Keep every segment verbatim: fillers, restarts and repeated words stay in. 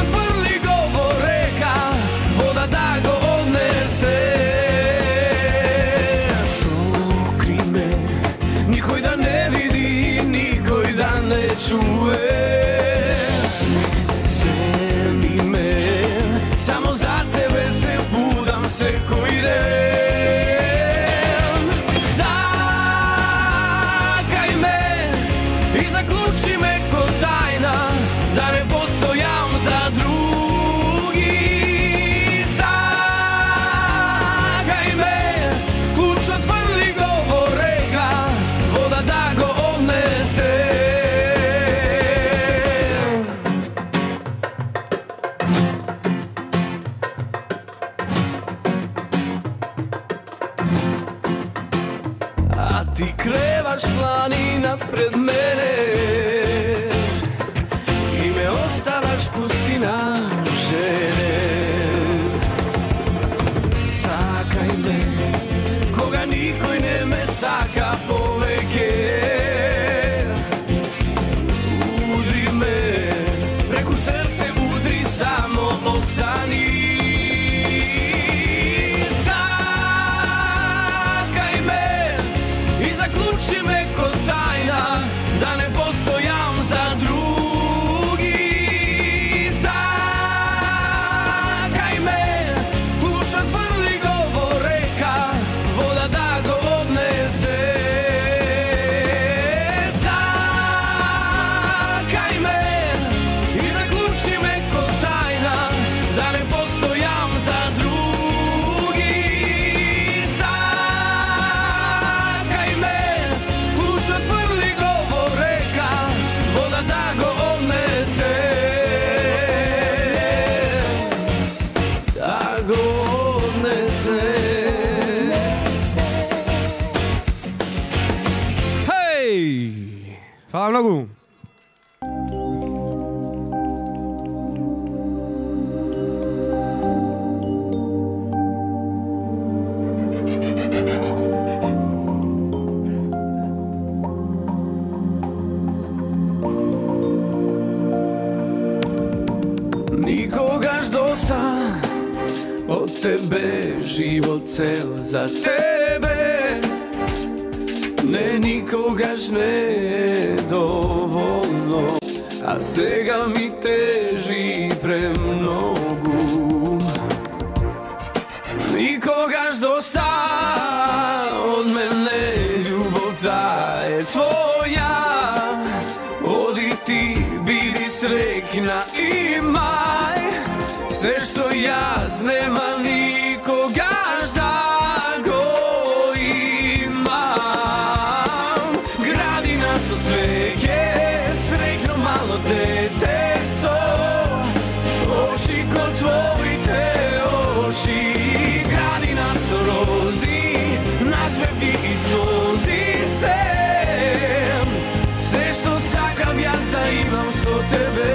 отврли го во река, вода да го однесе. Сокри ме, никој да не види, никој да не чуе. Земи ме, само за тебе се будам секој ден. Закај ме и заклучи ме ко тајна, да не постојам за други. Закај ме, клуч отврли го во река, вода да го однесе. А ти креваш планина пред мене и ме оставаш пустина, жене. Сакај ме, кога никој не ме сака повеќе. Удри ме, преку срце удри, само остани. Сакај ме и заклучи ме ко тајна, да не постојам за други. Закај ме, клуч отврли го во река, вода да го однесе. Закај ме и заклучи ме ко тајна, да не постојам за други. Закај ме, клуч отврли го во река, вода да го однесе. Да го однесе. Хеј! Фала многу. Никогаш доста од тебе, живот цел за тебе. Не, никогаш не е доволно, а сега ми тежи премногу. Никогаш доста од мене, љубовта е твоја. Оди ти, биди срекна, имај се што јас нема никогаш да го имам. Градина со цвеќе, срекно мало дете со очи ко твоите очи. Градина со рози, насмевки и сози, се се што сакам јас да имам со тебе.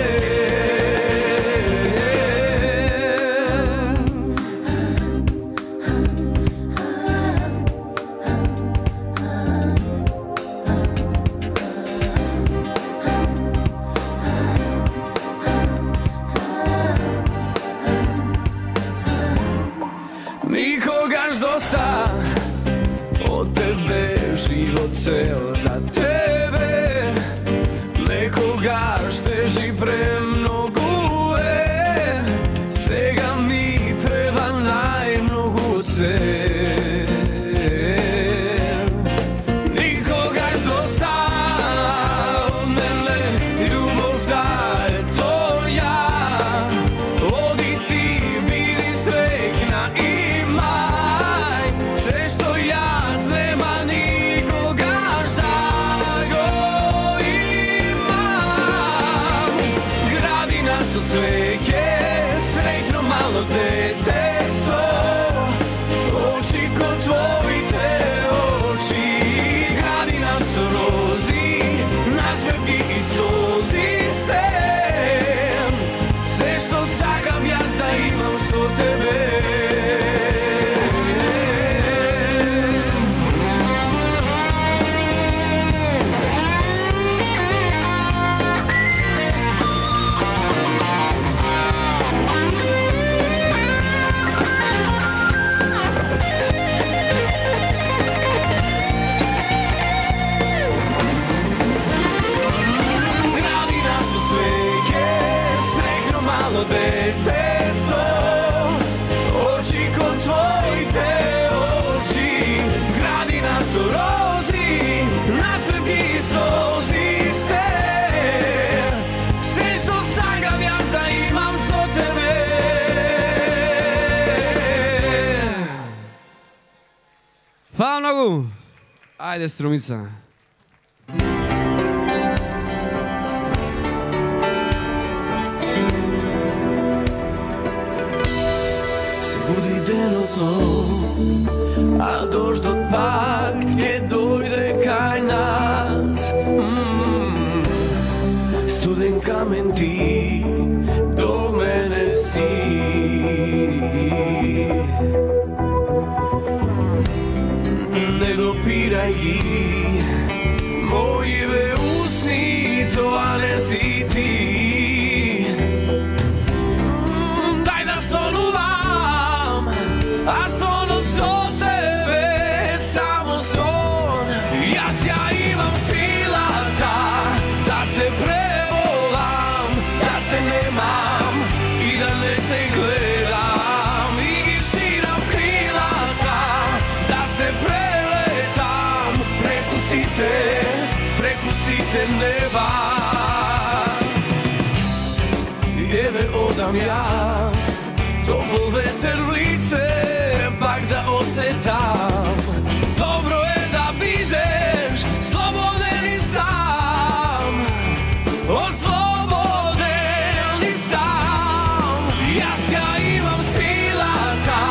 Никогаш доста од тебе, живот цел за тебе. Некогаш тежи премногу е, сега ми треба најмногу се. Никогаш доста од мене, љубовта е твоја. Оди ти, биди срекна, имај се што јас нема никогаш да го имам. Градина со цвеќе, срекно мало дете со очи ко твоите очи. Градина со рози, насмевки и сози, се се што сакам јас да имам со тебе. malo dete som. Oči ko tvojite oči, gradi nas u rozi, nasmevki i sozi se. Sve što sangam ja za imam so tebe. Hvala mnogo. Ajde, strumica. Budi denotno, a doždot pak je dojde kaj nas. mm. Studen kamen ti do mene si. Ne dopiraj gi mojive usni, to a ne si ti. mm, Daj da sonuvam, a son od so tebe, samo son. Jas ja imam silata da te prevolam, da te nemam i da ne te gledam. I širam krilata da te preletam, preko site, preko site neba. I eve odam jas, topol veter lice, pak da osetam. Dobro je da bideš sloboden i sam, osloboden i sam. Jas ja imam silata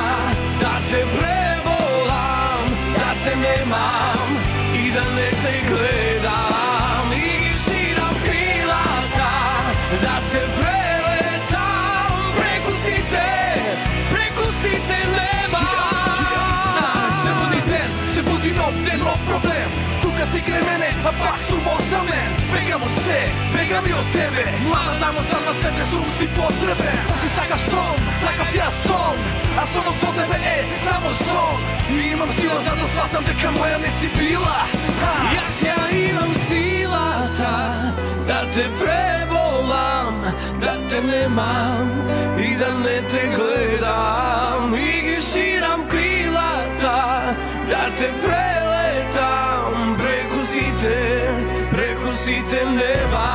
da te prevolam, da te nemam i da ne te gledam. I širam krilata da te preletam, preko site, preko site neba. Se budi den, se budi nov den, nov problem. Tuka si kraj mene, a pak sum osamljen. Begam od se, begam i od tebe. Mala damo sam na sebe, sum si potreben. I sakav son, sakav ja son, a sonom od tebe e samo son. I imam sila za da shvatam deka moja ne si bila. Jas ja imam silata da te prebolam, da te nemam i da ne te gledam. I širam krilata da te preletam, preko site, preko site neba.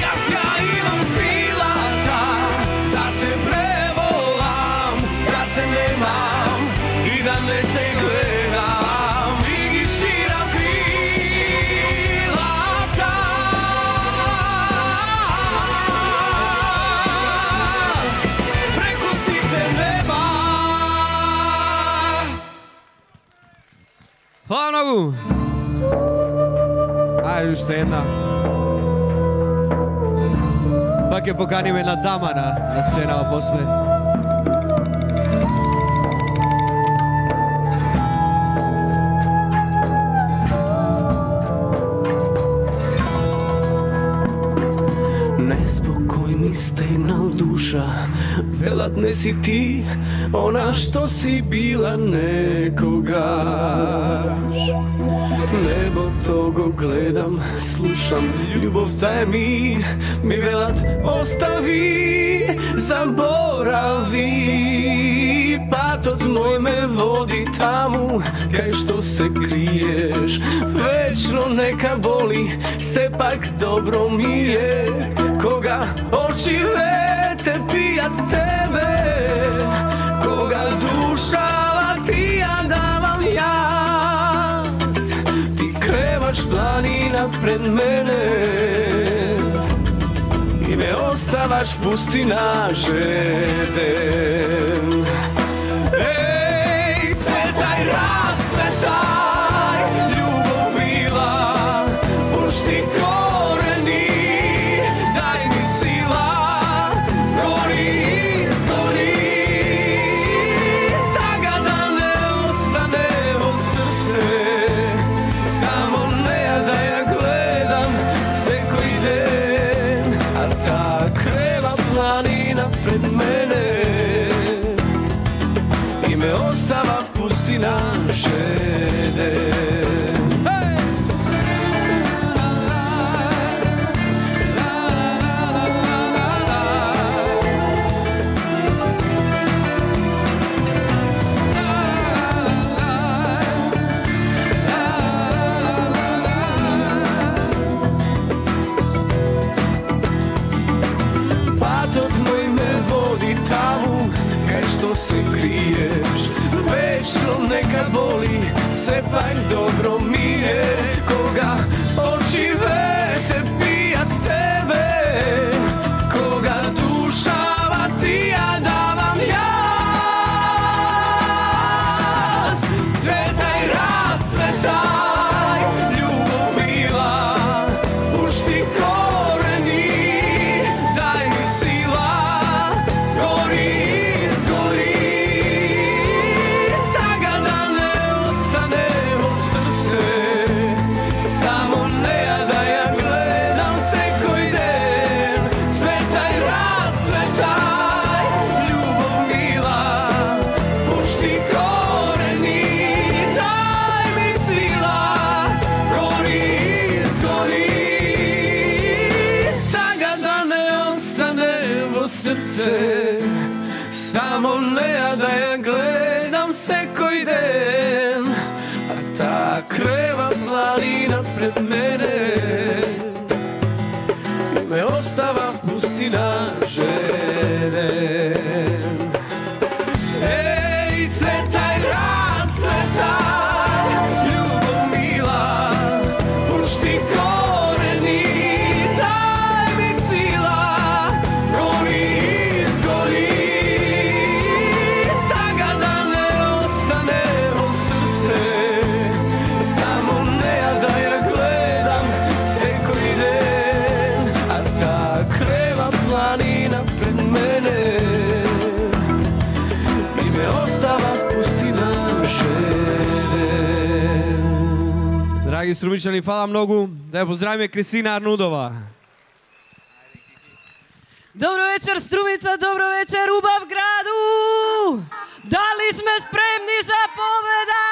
Jas ja imam silata da te prevolam, da te nemam i da ne te gledam. I širam krilata preko site neba. Hvala mnogo. Ajde, još jedna. Pak je pokanim jedna dama na, na scenama posle. Nespokoj mi stegnal duša, velat ne si ti ona što si bila nekogaš. Nebo togo gledam, slušam, ljubov taj mi, mi velat ostavi, zaboravi. Patot moj me vodi tamo, kaj što se kriješ, večno neka boli, se pak dobro mi je. Koga oči vete pijat tebe, koga duša lati ja davam jas. Ti krevaš planina pred mene i me ostavaš pustina žeden. Ej, cvetaj, rascvetaj, ljubav bila, pušti koreni, daj mi sila, gori, izgori, taga da ne ostane u srce, samo ne da ja gledam se koji se kriješ, večno nekad boli, se pak dobro mije. Koga oči vete pijat tebe, koga dušava ti ja davam jaz. Cvetaj, rascvetaj, ljubav mila, pušti koreni, daj mi sila, gori izgori, taga da ne ostane u srce, samo ne da ja gledam se koji den. Cvetaj, rascvetaj, ljubav mila, pušti koreni, daj mi sila, gori izgori, taga da ne ostane u srce, samo ne da ja gledam se koji den. A ta kreva planina pred mene me ostava pustina žeden. Ej, cvetaj, rascvetaj, ljubav mila, pušti koreni, daj mi sila, gori izgori, taga da ne ostane u srce, samo ne da ja gledam se koji den. A ta kreva planina pred mene mi me ostava pustina žeden. Драги струмичани, фала многу. Да ја поздравиме Кристина Арнудова. Добро вечер, Струмица, добро вечер, убав граду! Дали сме спремни за победа?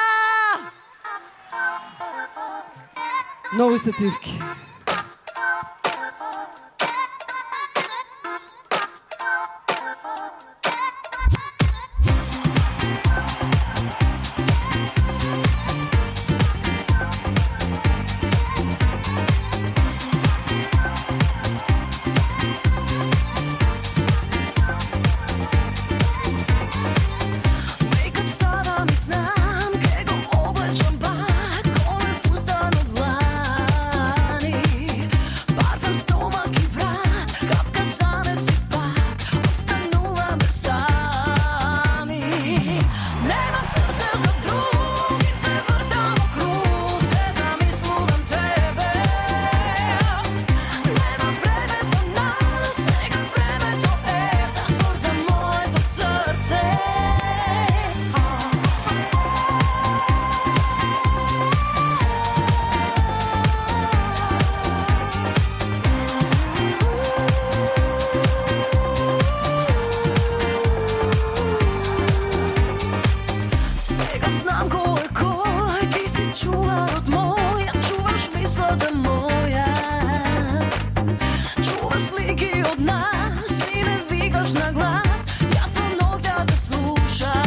Нови стативки. Make-up ставам и знам, ке го облечам пак, коле фустан од длани. Парфем, стомак и врат, капка занеси пак, остануваме сами. Немам срце за други, се вртам округ, те замислувам тебе. Немам време за нас, сега времето е затвор за моето срце. Сега знам кој е кој, ти си чувар од моја, чуваш мислата моја. Чуваш слики од нас и не викаш на глас, јас со ноќа да слушам.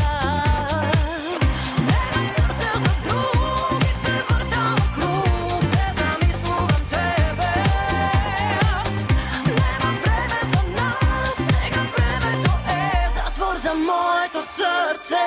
Немам срце за други, се вртам округ, те замислувам тебе. Немам време за нас, сега времето е затвор за моето срце.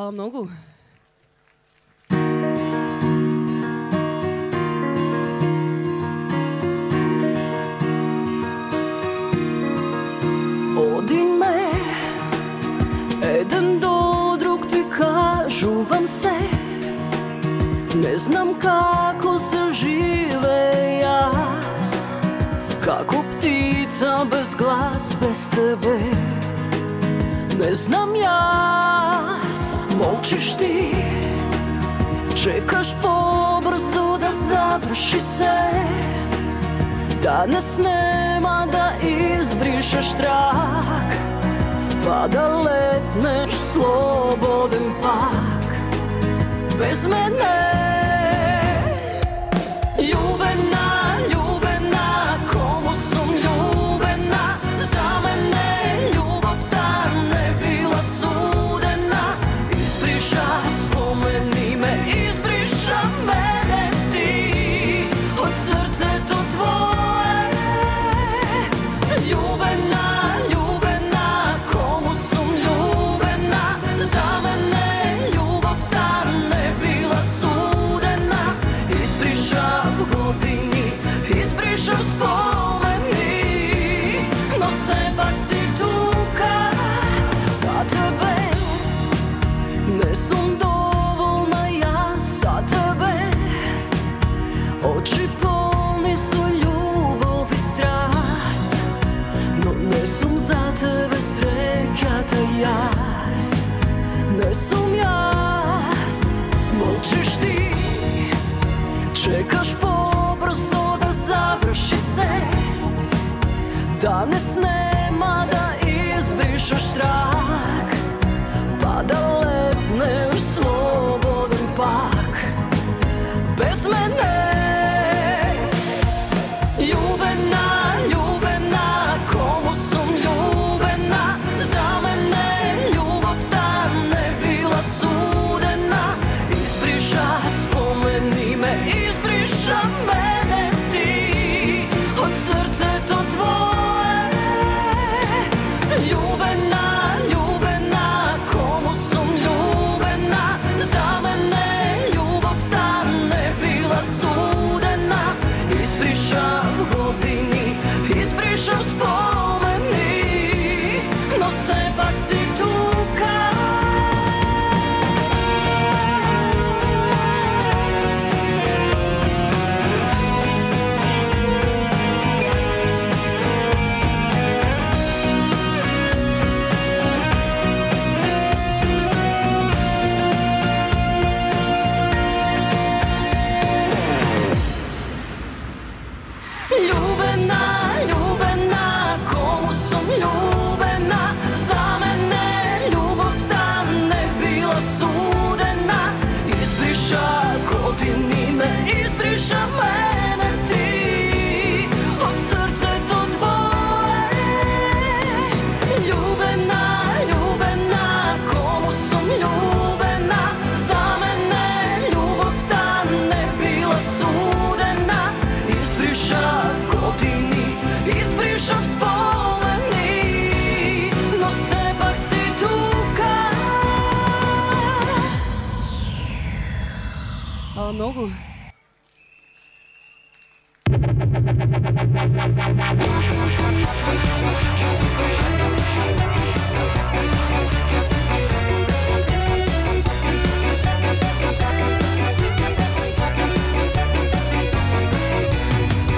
Фала многу. Оди ме, еден до друг ти кажувам се. Не знам како се живе јас, како птица без глас, без тебе. Не знам јас, молчиш ти, чекаш побрзо да заврши се. Данес нема да избришеш трак, па да летнеш слободен пак без мене. Љубена, љубена, кому сум љубена, за мене љубовта не била судена. Избриша спомени ме, избриша мене ти од срцето твое. Љубена, љубена, кому сум љубена, за мене љубовта не била судена. Избришав години, избришав спомени, но сепак си тука за тебе. Не сум доволна јас за тебе, очи полни со љубов и страст, но не сум за тебе среќата јас. Не сум јас, молчиш ти, чекаш побрзо да заврши се. Данес нема да избришеш трак, па да летнеш слободен пак без мене. Љубена, љубена, кому сум љубена, за мене љубовта не била судена. Избриша спомени ме, избриша мене ти од срцето твое. Љубена, љубена, кому сум љубена, за мене љубовта не била судена. Избришав години, избришав спомени, но сепак си тука. Љубена, љубена, кому сум љубена, за мене љубовта не била судена. Избриша години ме, избриша мене ти од срцето твое. Љубена, љубена, кому сум љубена, за мене љубовта не била судена. Избришав години, избришав спомени, но сепак си тука. Фала многу.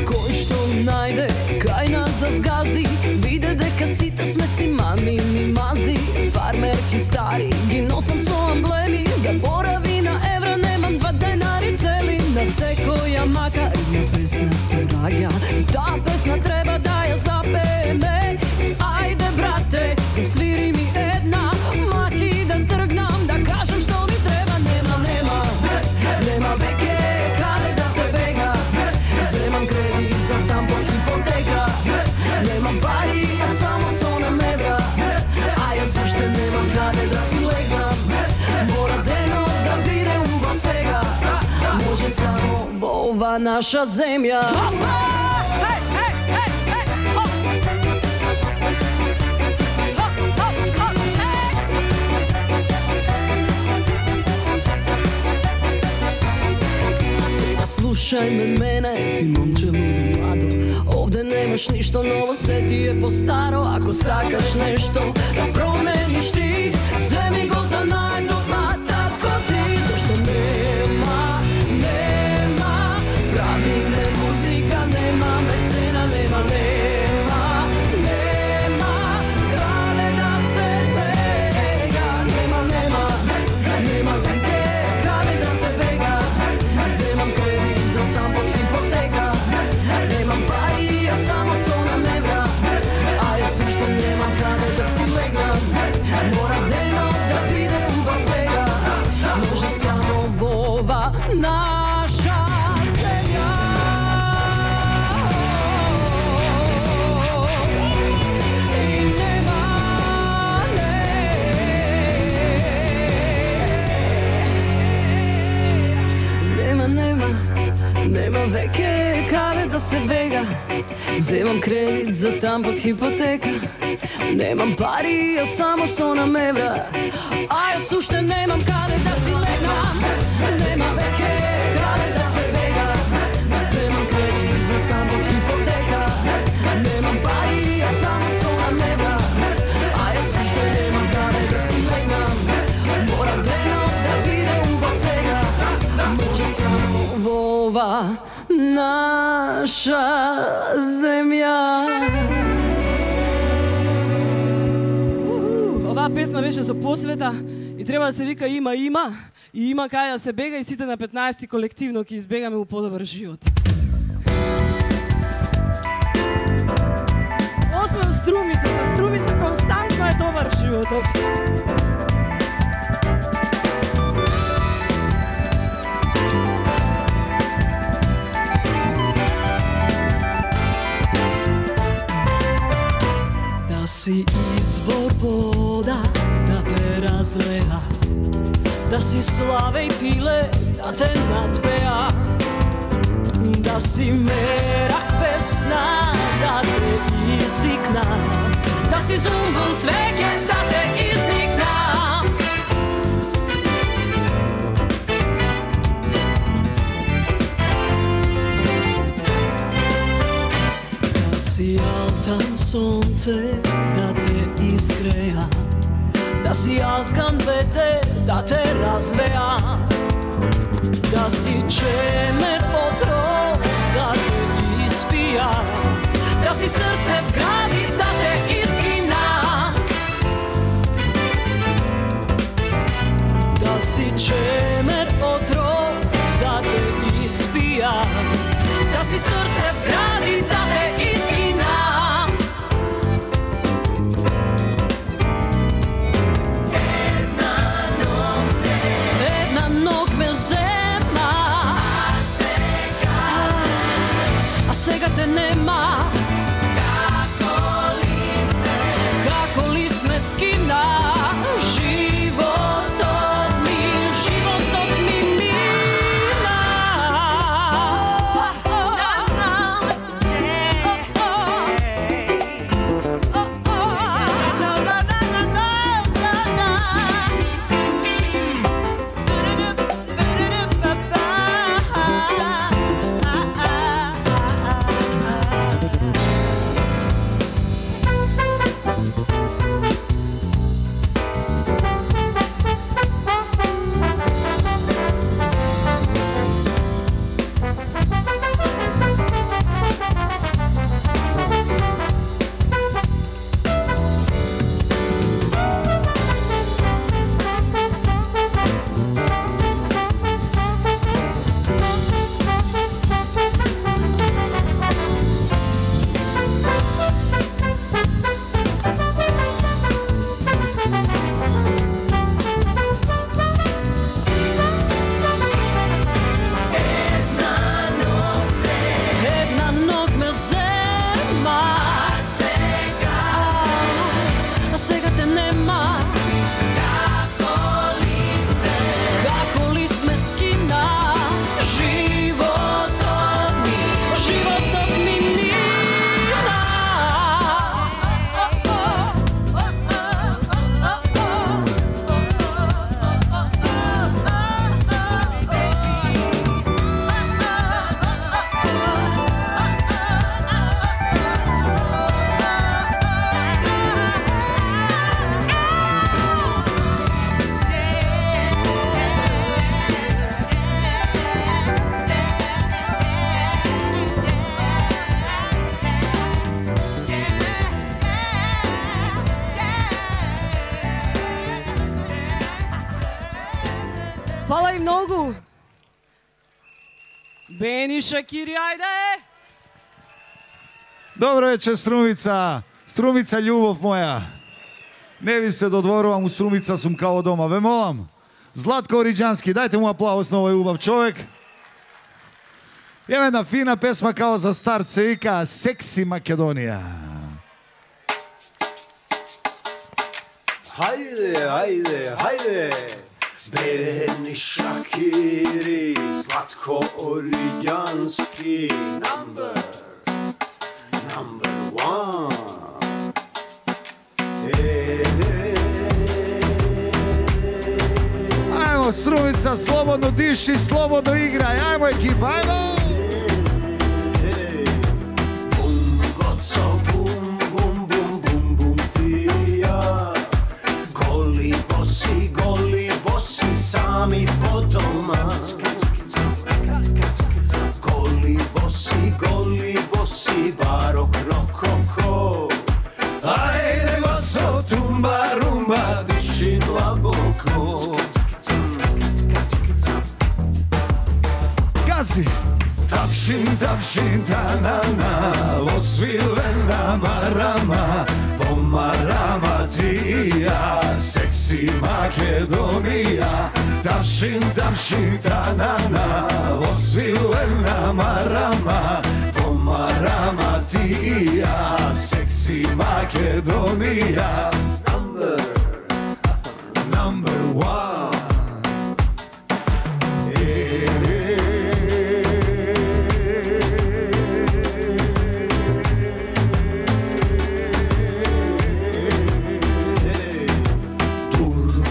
Кој што најде кај нас да згази, виде дека сите сме си мамини мази. Фармерки стари ги носам со амблеми, заборави на евра немам два денари цели. На секоја мака една песна се раѓа, и таа песна треба да ја запееме. Ајде брате, засвири ми една, маки да тргнам, да кажам што ми треба. Нема, нема, нема веќе каде да се бега. Земам кредит за стан под хипотека. Немам пари, а само со намевра, а јас уште немам каде да си легам. Мора денот да биде убав сега, може само во ова наша земја. Слушај ме мене, ти момче лудо младо. Овде немаш ништо ново, се ти е по-старо. Ако сакаш нешто да промениш ти, земи го за најдот на татко ти. Зашто нема, нема, правиме музика, нема месцена, нема, нема, нема, краде да се бега. Нема, нема, нема веќе краде да се бега. Земам кредит за стан под хипотека. Немам пари, а само сонам евра. А јас уште немам каде да си легнам. Мора дено да бидем ба сега. Може само во ова наша земја. И нема, нема, нема, нема веќе каде да се бега. Земам кредит за стан под хипотека. Немам пари, а само сонам евра. А јас уште немам каде да си легнам. Нема веќе каде да се бега. Земам кредит за стан под хипотека. Немам пари, а само сонам евра. А јас уште немам каде да си легнам. Мора дено да бидем ба сега. Може само во ова наша земја. Оваа песна беше со посвета и треба да се вика има има и има каде да се бега и сите на петнаесети колективно ќе избегаме у подобар живот. Освен струмица, на струмица константно е добар животот. Да си извор вода, да те разлеа, да си славе и пиле, да те надпеа, да си мерак песна, да те извикна, да си зумбул цвеќе, да те изникна. Да си алтан сонце, да те изгреа, да си азган ветер, да те развеа, да си чемер отров, да те испија, да си срце вгради, да те изгина. Да си чемер отров, да те испија, да си срце вгради, да те изгина. Сега те нема, многу. Бени Шакири, ајде! Добро вечер, Струмица. Струмица, љубов моја. Не ви се додворувам, у Струмица сум као дома. Ве молам. Златко Ориџански, дајте му аплауз на овој убав човек. Има една фина песма као за старт, се вика Секси Македонија. Хајде, хајде, хајде. Бени Шакири, Златко Ориџански, number, number one. Ајмо, Струмица, слободно диши, слободно играј. Ајмо, екипа, ајмо! Бум, гоцо, бум, бум, бум, бум, бум, ти и ја. Голи боси, голи боси, сами по дома. Голи боси, голи боси, барок, рококо. Ајде, гоцо, тумба, румба, диши длабоко. Гази! Тапшин, тапшин, та-на-на, освилена марама, во марама ти и ја, секси Македонија. Тапшин, тапшин, та-на-на, освилена марама, во марама ти и ја, секси Македонија. Number, number one.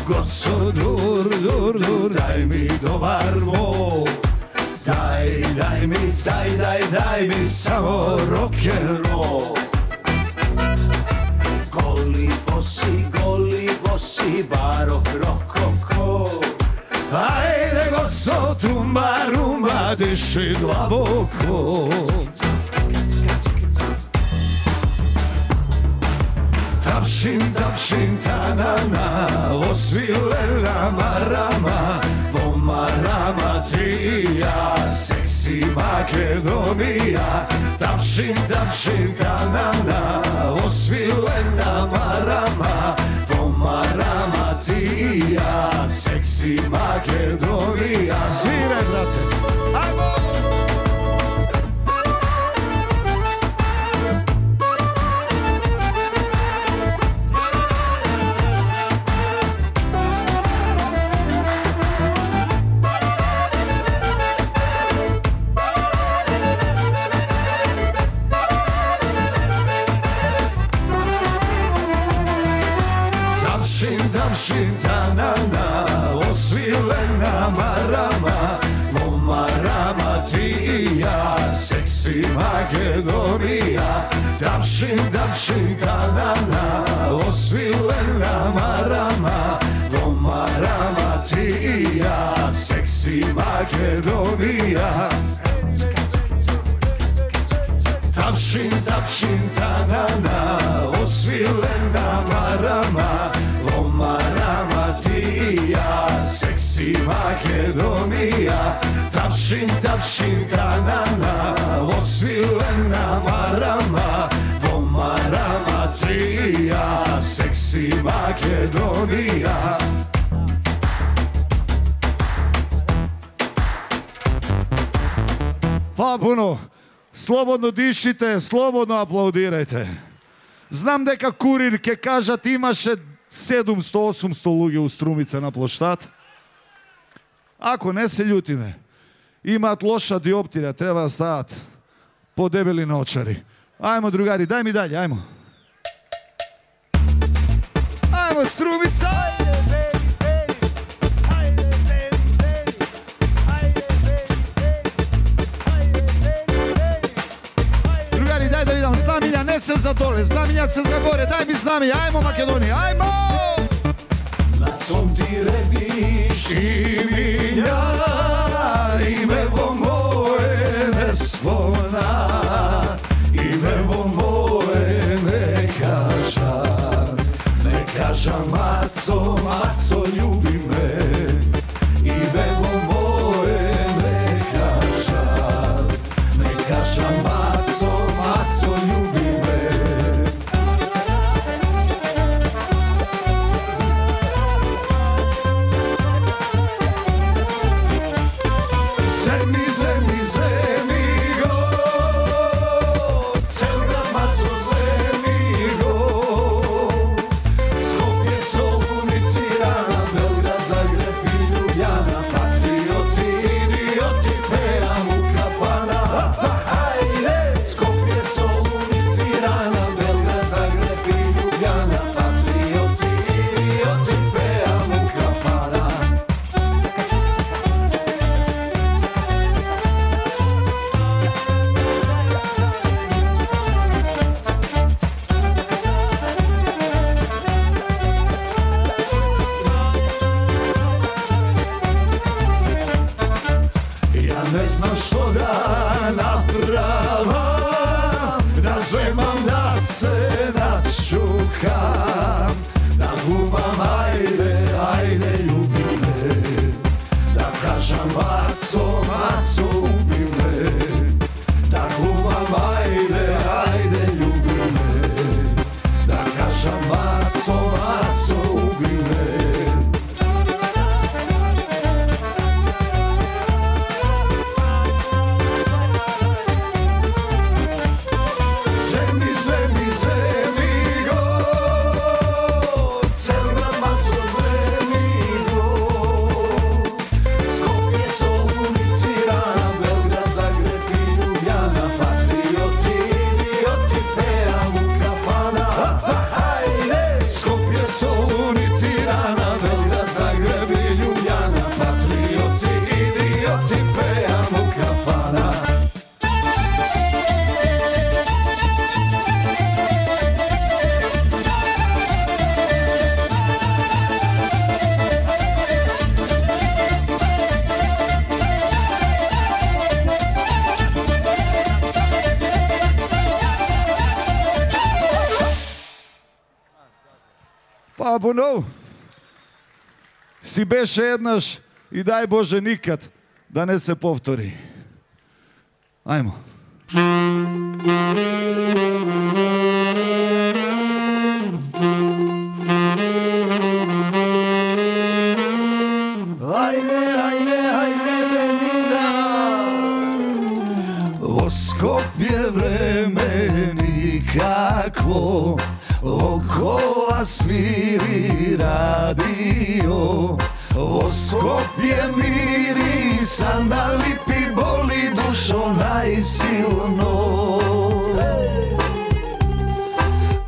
Goco, dur, dur, dur, daj mi dobar mol. Daj, daj mi, daj, daj, daj mi samo rock'n'roll. Goli bosi, goli bosi, barok, rokoko. Ajde, goco, tumba, rumba, diši dlaboko. Tapšin, tapšin, ta-na-na, osvilena marama, vo marama ti i ja, seksi Makedonija. Tapšin, tapšin, ta-na-na, osvilena marama, vo marama ti i ja, seksi Makedonija. Sviraj, brate! Ajmo! Tapšin, ta-na-na, osvilena marama, vo marama ti i ja, seksi Makedonija. Tapšin, tapšin, ta-na-na, osvilena marama, vo marama ti i ja, seksi Makedonija. Tapšin, tapšin, ta-na-na, osvilena marama, vo marama ti i ja, seksi Makedonija. Tapšin, tapšin, ta-na-na, osvilena marama, vo marama ti i ja, seksi Makedonija. Hvala puno. Slobodno dišite, slobodno aplaudirajte. Знам дека Курир ќе кажат имаше седумсто осумсто луѓе у Струмица на плоштад. Ако не се љутиме, имаат лоша диоптрија, треба да стават подебели наочари. Ајмо, другари, дај ми даље, ајмо. Ајмо, Струмица! Другари, дај да видам, знамиња не се за доле, знамиња се за горе, дај ми знамиња, ајмо Македонија, ајмо! На сон ти ребиш имиња, име во моје не спомна, име во моје не кажа, не кажа Мацо, Мацо љуби ме, име во моје se načukam, da gubam ajde, ajde ljubi me, da kažem maco, maco ubi me, da gubam ajde, ajde ljubi me, da kažem maco, maco ubi me. Pa понов, си беше еднаш и дај Боже никад да не се повтори. Ајмо. Ајде, ајде, ајде, Бенида. Во Скопје време никакво, окола свири радио, во Скопје мири сандали, пи боли душо најсилно.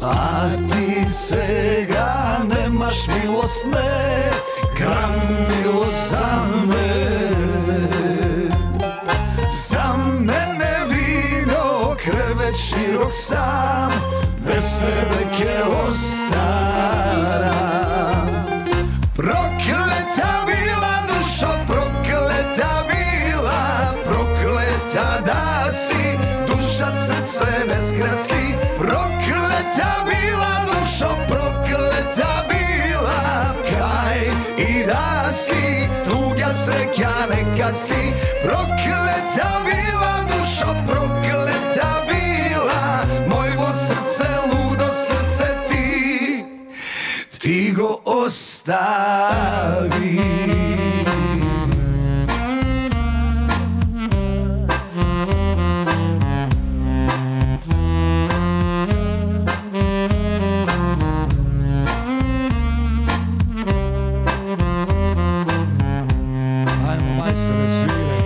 А ти сега немаш милост, не, грам милост за мене. За мене вино, кревет широк сам, без тебе ке остара. Проклета била душо, проклета била, проклета да си, душа срце не скраси. Проклета била душо, проклета била, кај и да си, туѓа среќа нека си. Проклета била душо, проклета била, мојво срце, лудо срце ти, ти го остави. Ајмо, мајсторе, свиреј.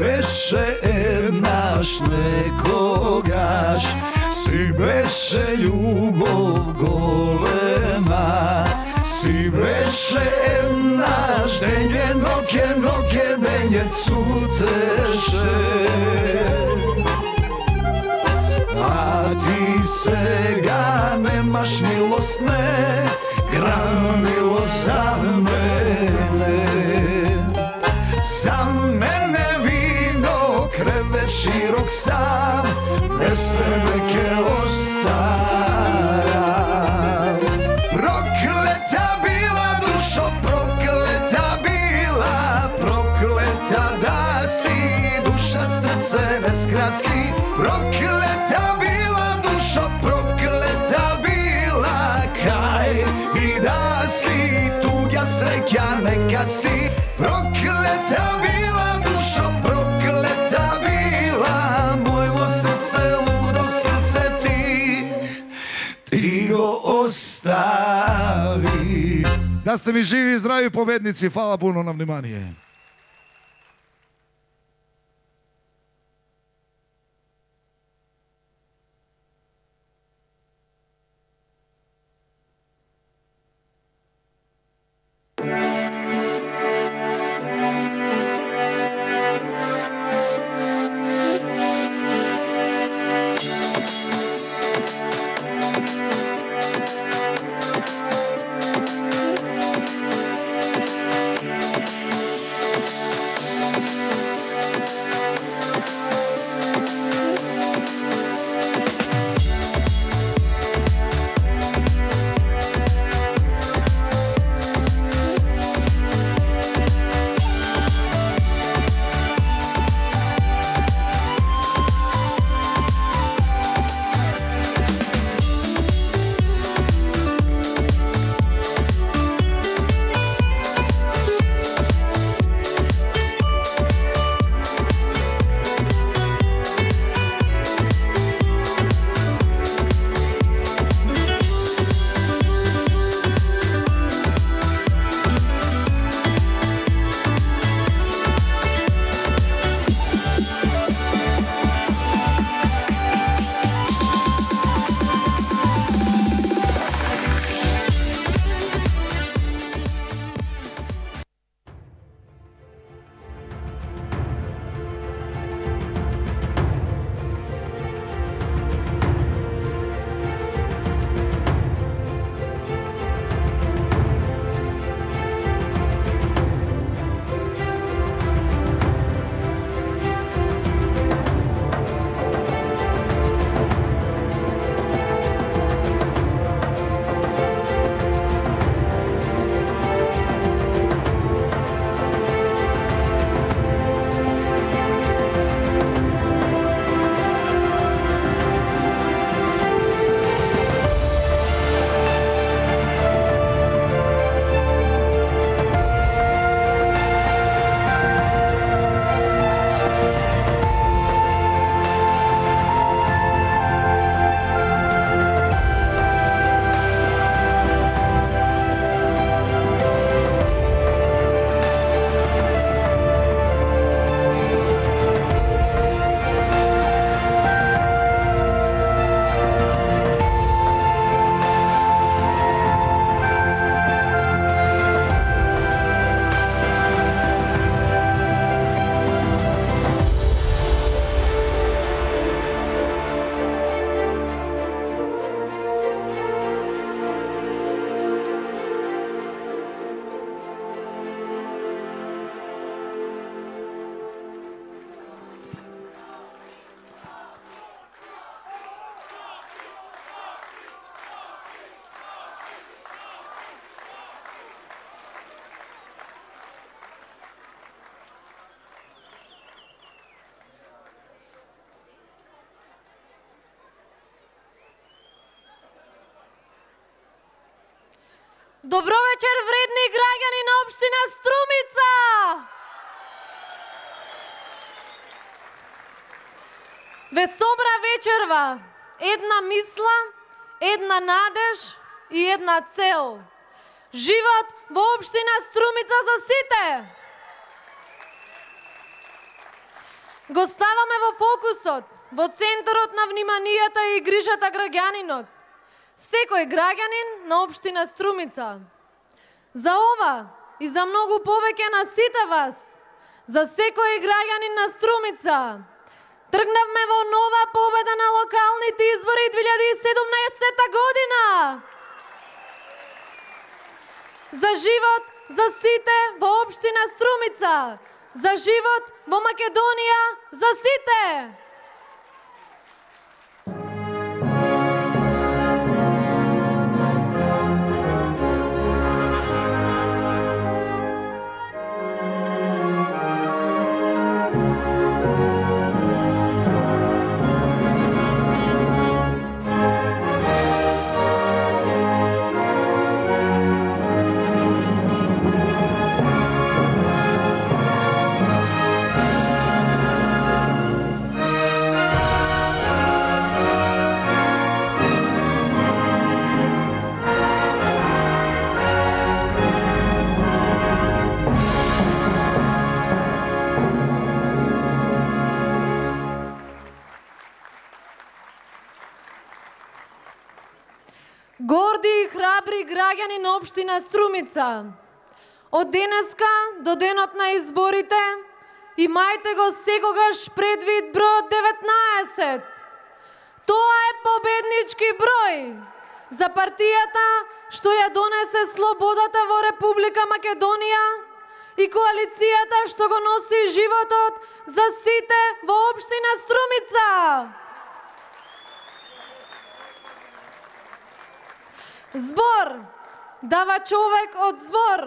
Беше еднаш некогаш, си беше љубов голема, си беше еднаш дење, ноќе, ноќе, дење цутеше. А ти сега немаш милост, не, грам милост за мене. За мене вино, кревет широк сам, без тебе ке остара. Проклета била душо, проклета била, проклета да си, душа срце не скраси. Проклета била душо, проклета била, кај и да си, туѓа среќа нека си. Проклета била душо, проклета била, мојво срце, лудо срце ти, ти го остави. Да сте ми живи и здрави победници, фала пуно на внимание. Добро вечер, вредни граѓани на општина Струмица! Ве собра вечерва една мисла, една надеж и една цел. Живот во општина Струмица за сите! Го ставаме во фокусот, во центарот на вниманијата и грижата граѓанинот. Секој граѓанин на општина Струмица. За ова и за многу повеќе на сите вас, за секој граѓанин на Струмица, тргнавме во нова победа на локалните избори две илјади и седумнаесетта година. За живот за сите во општина Струмица, за живот во Македонија за сите. Горди и храбри граѓани на општина Струмица, од денеска до денот на изборите имајте го секогаш предвид бројот деветнаесет. Тоа е победнички број за партијата што ја донесе слободата во Република Македонија и коалицијата што го носи животот за сите во општина Струмица. Збор дава човек од збор.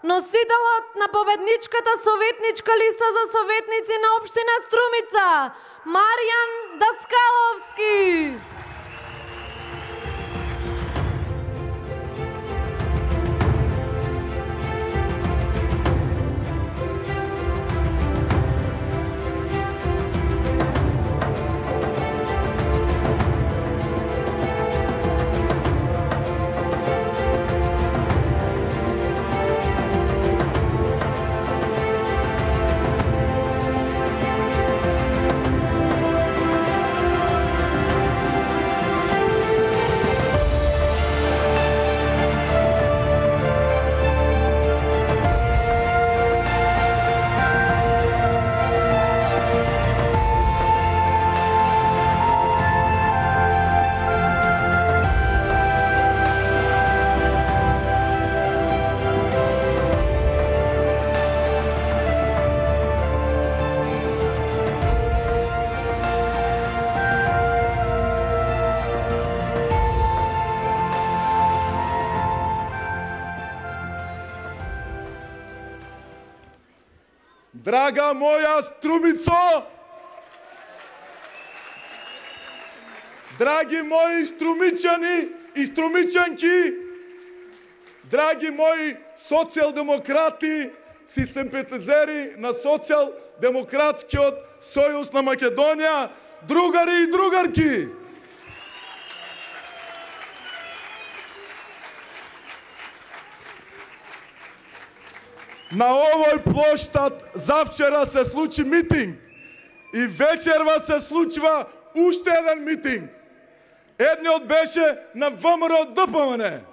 Носителот на победничката советничка листа за советници на општина Струмица, Маријан Даскаловски. Драга моја Струмицо, драги мои струмичани и струмичанки, драги мои социјалдемократи, си симпатизери на Социјалдемократскиот сојуз на Македонија, другари и другарки. На овој плоштад завчера се случи митинг и вечерва се случува уште еден митинг. Едниот беше на ВМРО ДПМН.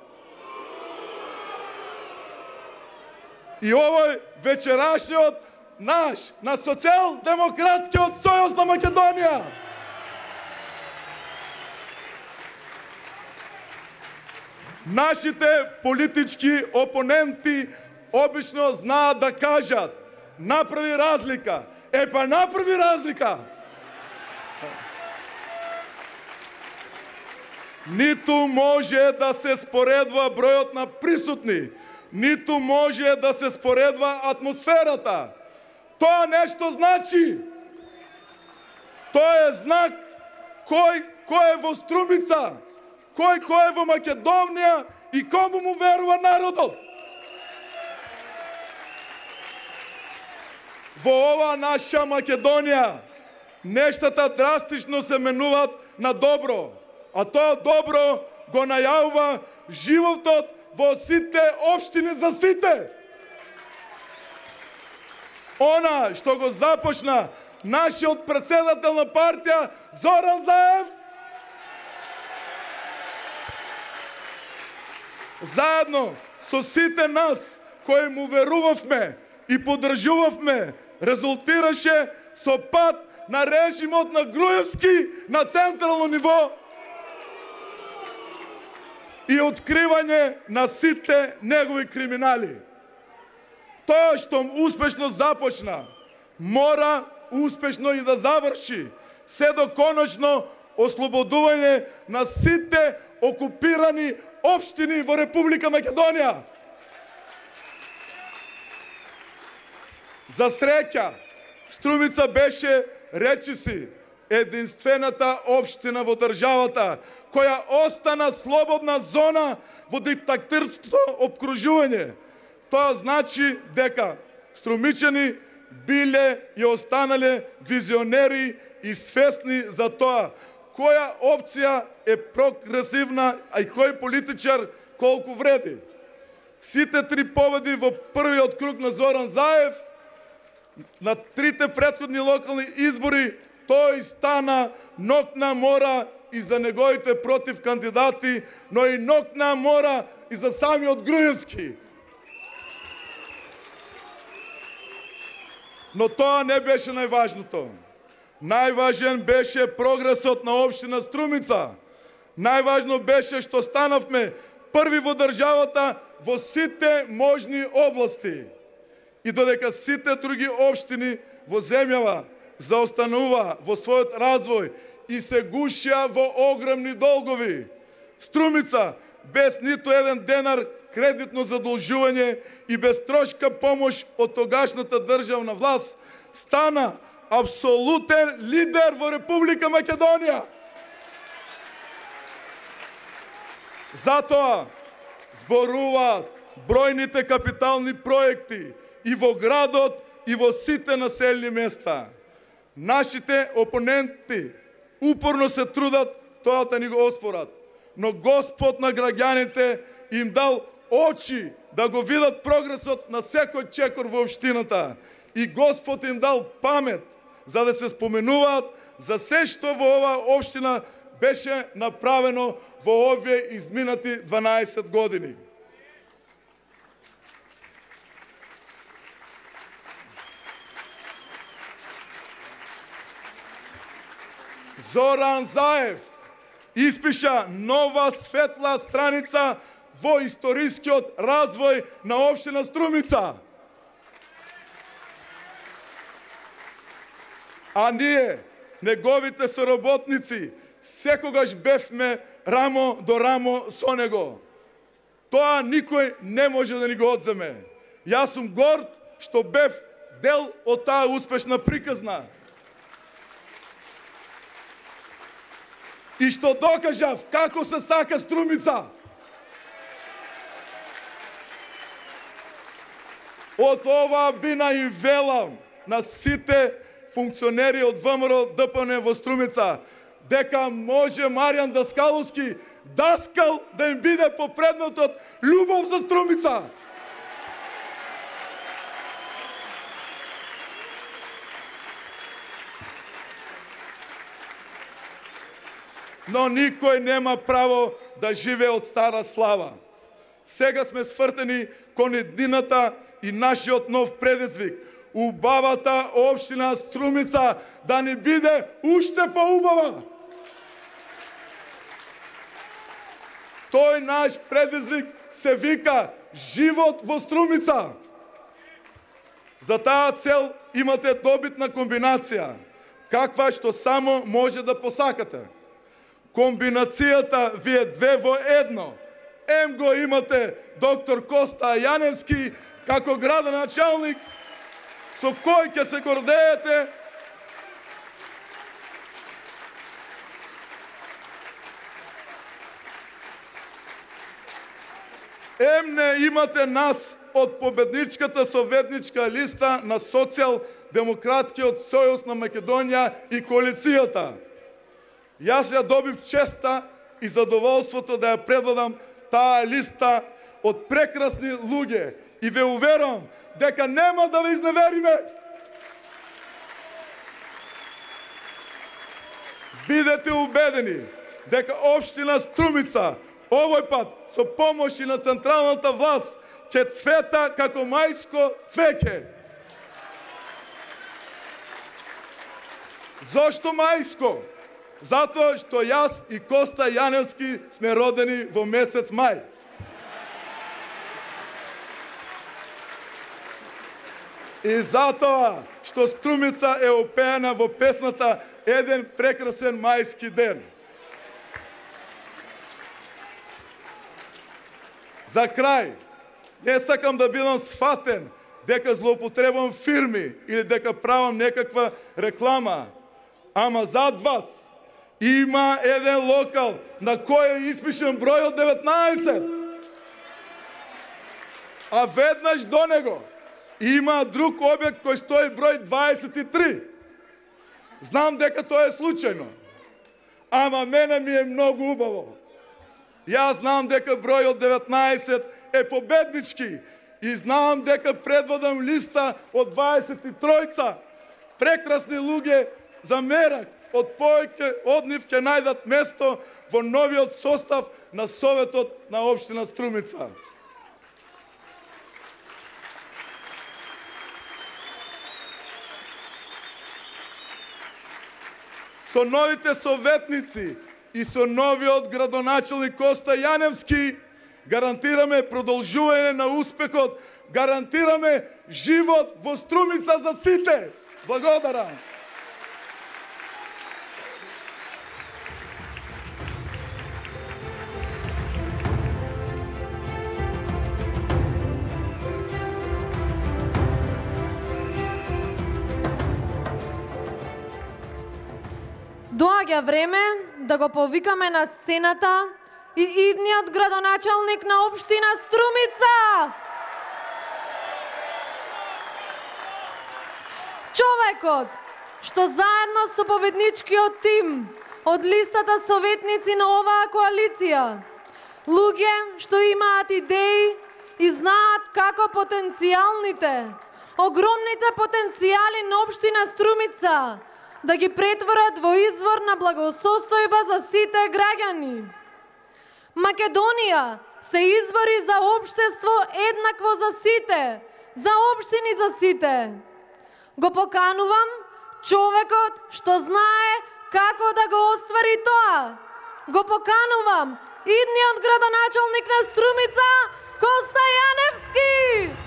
И овој вечерашниот наш, на Социјалдемократскиот сојуз на Македонија. Нашите политички опоненти обично знаат да кажат, направи разлика. Е, па направи разлика. Ниту може да се споредва бројот на присутни, ниту може да се споредва атмосферата. Тоа нешто значи. Тоа е знак кој кој е во Струмица, кој кој е во Македонија и кому му верува народот. Во ова наша Македонија нештата драстично се менуваат на добро, а тоа добро го најавува животот во сите општини за сите. Она што го започна нашиот председател на партија Зоран Заев, заедно со сите нас кои му верувавме и поддржувавме, резултираше со пат на режимот на Груевски на централно ниво и откривање на сите негови криминали. Тоа што успешно започна, мора успешно и да заврши, се до конечно ослободување на сите окупирани општини во Република Македонија. За среќа, Струмица беше, речиси, единствената општина во државата која остана слободна зона во диктаторско обкружување. Тоа значи дека струмичани биле и останале визионери и свесни за тоа која опција е прогресивна, а и кој политичар колку вреди. Сите три победи во првиот круг на Зоран Заев, на трите претходни локални избори, тој стана ног на мора и за неговите против кандидати, но и ног на мора и за самиот Груевски. Но тоа не беше најважното. Најважен беше прогресот на општина Струмица. Најважно беше што станавме први во државата во сите можни области. И додека сите други општини во земјава заостанува во својот развој и се гушија во огромни долгови, Струмица без ниту еден денар кредитно задолжување и без трошка помош од тогашната државна власт стана апсолутен лидер во Република Македонија. Затоа зборуваат бројните капитални проекти и во градот, и во сите населени места. Нашите опоненти упорно се трудат тоа да ни го оспорат, но Господ на граѓаните им дал очи да го видат прогресот на секој чекор во општината и Господ им дал памет за да се споменуваат за се што во оваа општина беше направено во овие изминати дванаесет години. Зоран Заев испиша нова светла страница во историскиот развој на општина Струмица. А ние, неговите соработници, секогаш бевме рамо до рамо со него. Тоа никој не може да ни го одземе. Јас сум горд што бев дел од таа успешна приказна. И што докажав како се сака Струмица. Од ова бина им велам на сите функционери од ВМРО Д П Н во Струмица, дека може Маријан Даскаловски, Даскал, да им биде попредметот љубов за Струмица. Но никој нема право да живее од стара слава. Сега сме свртени кон еднината и нашиот нов предизвик. Убавата општина Струмица да ни биде уште поубава. Тој наш предизвик се вика живот во Струмица. За таа цел имате добитна комбинација, каква што само може да посакате. Комбинацијата ви е две во едно. Ем го имате доктор Коста Јаневски како градоначалник, со кој ќе се гордеете, Емне имате нас од победничката советничка листа на Социјал-демократкиот сојуз на Македонија и коалицијата. Јас ја добив честа и задоволството да ја предводам таа листа од прекрасни луѓе и ве уверувам дека нема да ве изневериме. Бидете убедени дека општина Струмица овој пат со помош и на централната власт ќе цвета како мајско цвеќе. Зошто мајско? Затоа што јас и Коста Јаневски сме родени во месец мај. И затоа што Струмица е опеана во песната Еден прекрасен мајски ден. За крај, не сакам да бидам сфатен дека злоупотребувам фирми или дека правам некаква реклама, ама зад вас има еден локал на кој е испишен бројот деветнаесет. А веднаш до него има друг објект кој стои број дваесет и три. Знам дека тоа е случајно, ама мене ми е многу убаво. Јас знам дека бројот деветнаесет е победнички и знам дека предводам листа од дваесет и тројца. Прекрасни луѓе за мерак од повеќе од нив ќе најдат место во новиот состав на Советот на општина Струмица. Со новите советници и со новиот градоначелник Коста Јаневски гарантираме продолжување на успехот, гарантираме живот во Струмица за сите. Благодарам. Доаѓа време да го повикаме на сцената и идниот градоначалник на општина Струмица. Човекот што заедно со победничкиот тим од листата советници на оваа коалиција, луѓе што имаат идеи и знаат како потенцијалните, огромните потенцијали на општина Струмица да ги претворат во извор на благосостојба за сите граѓани. Македонија се избори за општество еднакво за сите, за општини за сите. Го поканувам човекот што знае како да го оствари тоа. Го поканувам идниот градоначалник на Струмица, Коста Јаневски.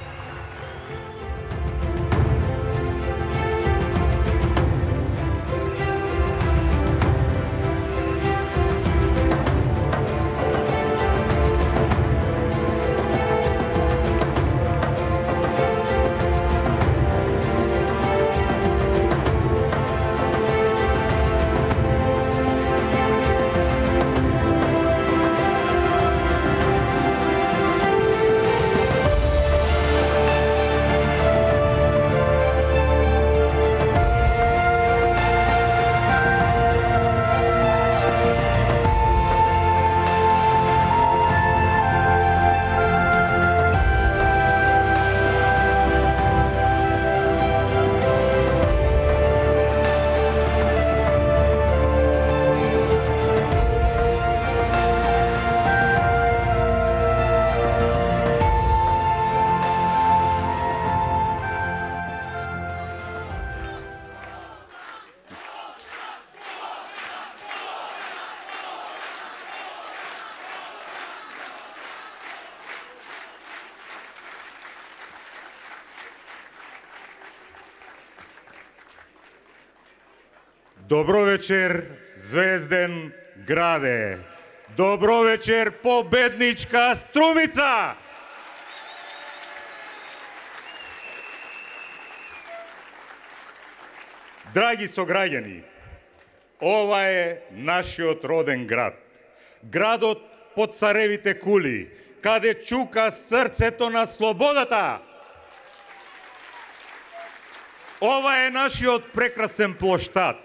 Добро вечер, Звезден граде. Добро вечер, победничка Струмица. Драги сограѓани, ова е нашиот роден град. Градот под царевите кули, каде чука срцето на слободата. Ова е нашиот прекрасен плоштад.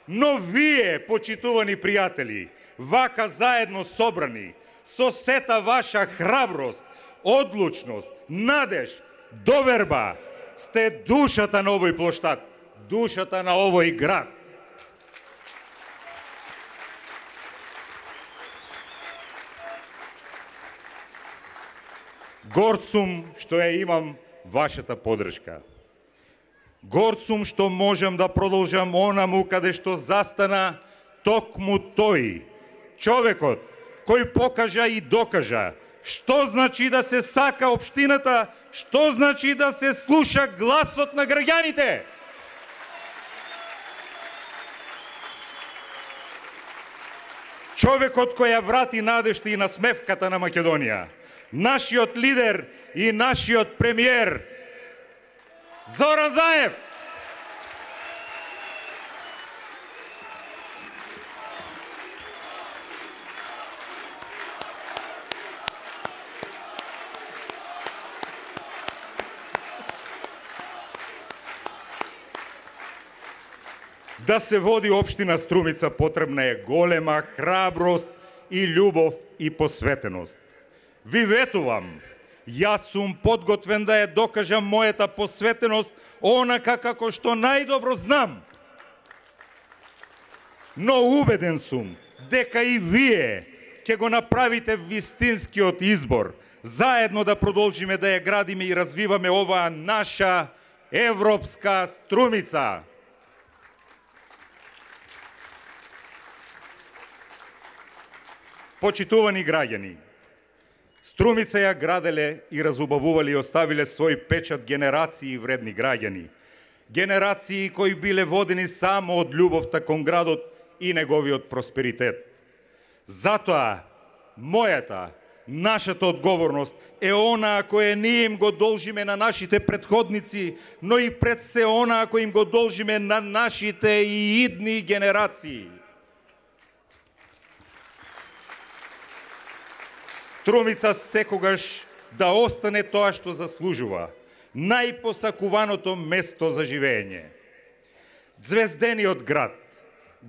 Но вие, почитувани пријатели, вака заедно собрани, со сета ваша храброст, одлучност, надеж, доверба, сте душата на овој плоштад, душата на овој град. Горд сум што ја имам вашата подршка. Горд сум што можам да продолжам онаму каде што застана токму тој, човекот кој покажа и докажа што значи да се сака општината, што значи да се слуша гласот на граѓаните. Човекот кој ја врати надежта и насмевката на Македонија. Нашиот лидер и нашиот премиер Зоран Заев. Да се води општина Струмица потребна е голема храброст и љубов и посветеност. Ви ветувам, јас сум подготвен да ја докажам мојата посветеност онака како што најдобро знам. Но убеден сум дека и вие ќе го направите вистинскиот избор, заедно да продолжиме да ја градиме и развиваме оваа наша европска Струмица. Почитувани граѓани, Струмица ја граделе и разубавувале и оставиле свој печат генерации вредни граѓани. Генерации кои биле водени само од љубовта кон градот и неговиот просперитет. Затоа, мојата, нашата одговорност е онаа која ние им го должиме на нашите претходници, но и пред се онаа која им го должиме на нашите и идни генерации. Струмица секогаш да остане тоа што заслужува, најпосакуваното место за живење. Звездениот град,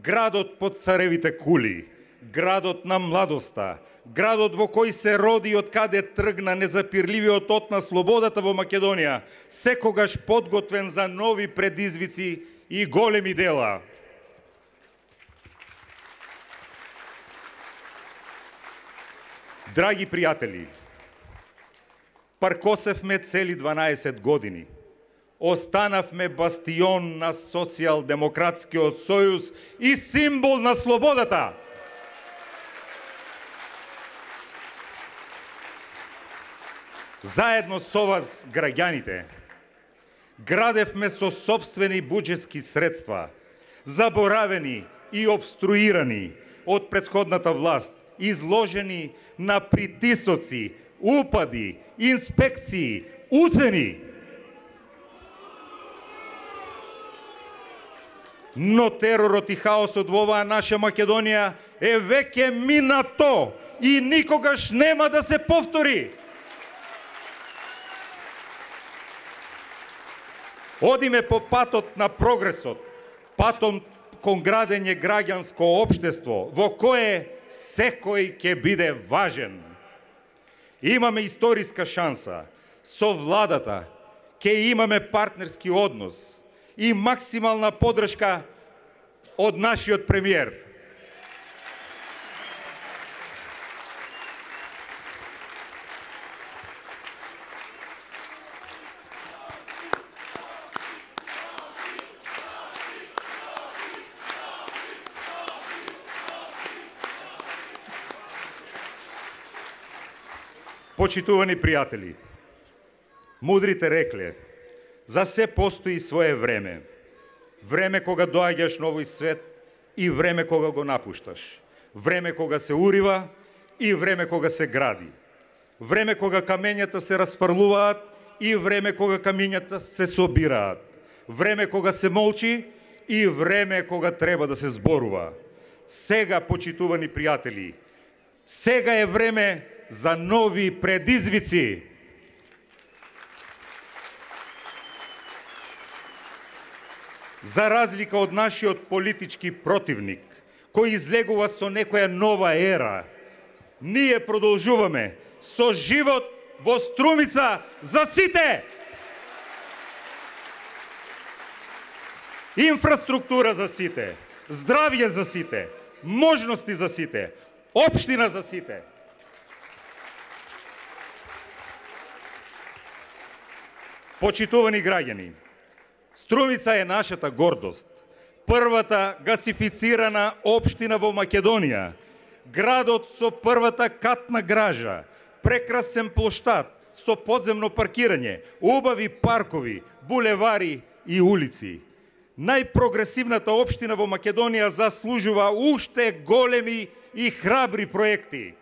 градот под царевите кули, градот на младоста, градот во кој се роди од каде тргна незапирливиот от на слободата во Македонија, секогаш подготвен за нови предизвици и големи дела. Драги пријатели, паркосевме цели дванаесет години. Останавме бастион на социјал-демократскиот сојуз и символ на слободата. Заедно со вас, граѓаните, градевме со собствени буџетски средства, заборавени и обструирани од претходната власт, изложени на притисоци, упади, инспекции, уцени. Но теророт и хаосот во оваа наша Македонија е веќе минато и никогаш нема да се повтори. Одиме по патот на прогресот, патот кон градење граѓанско општество, во кое секој ќе биде важен. Имаме историска шанса. Со владата ќе имаме партнерски однос и максимална подршка од нашиот премиер. Почитувани пријатели, мудрите рекле, за се постои свое време. Време кога доаѓаш на овој свет и време кога го напушташ. Време кога се урива и време кога се гради. Време кога камењата се расфрлуваат и време кога камењата се собираат. Време кога се молчи и време кога треба да се зборува. Сега, почитувани пријатели, сега е време за нови предизвици. За разлика од нашиот политички противник, кој излегува со некоја нова ера, ние продолжуваме со живот во Струмица за сите! Инфраструктура за сите, здравје за сите, можности за сите, општина за сите. Почитувани граѓани, Струмица е нашата гордост. Првата гасифицирана општина во Македонија, градот со првата катна гража, прекрасен плоштад со подземно паркирање, убави паркови, булевари и улици. Најпрогресивната општина во Македонија заслужува уште големи и храбри проекти.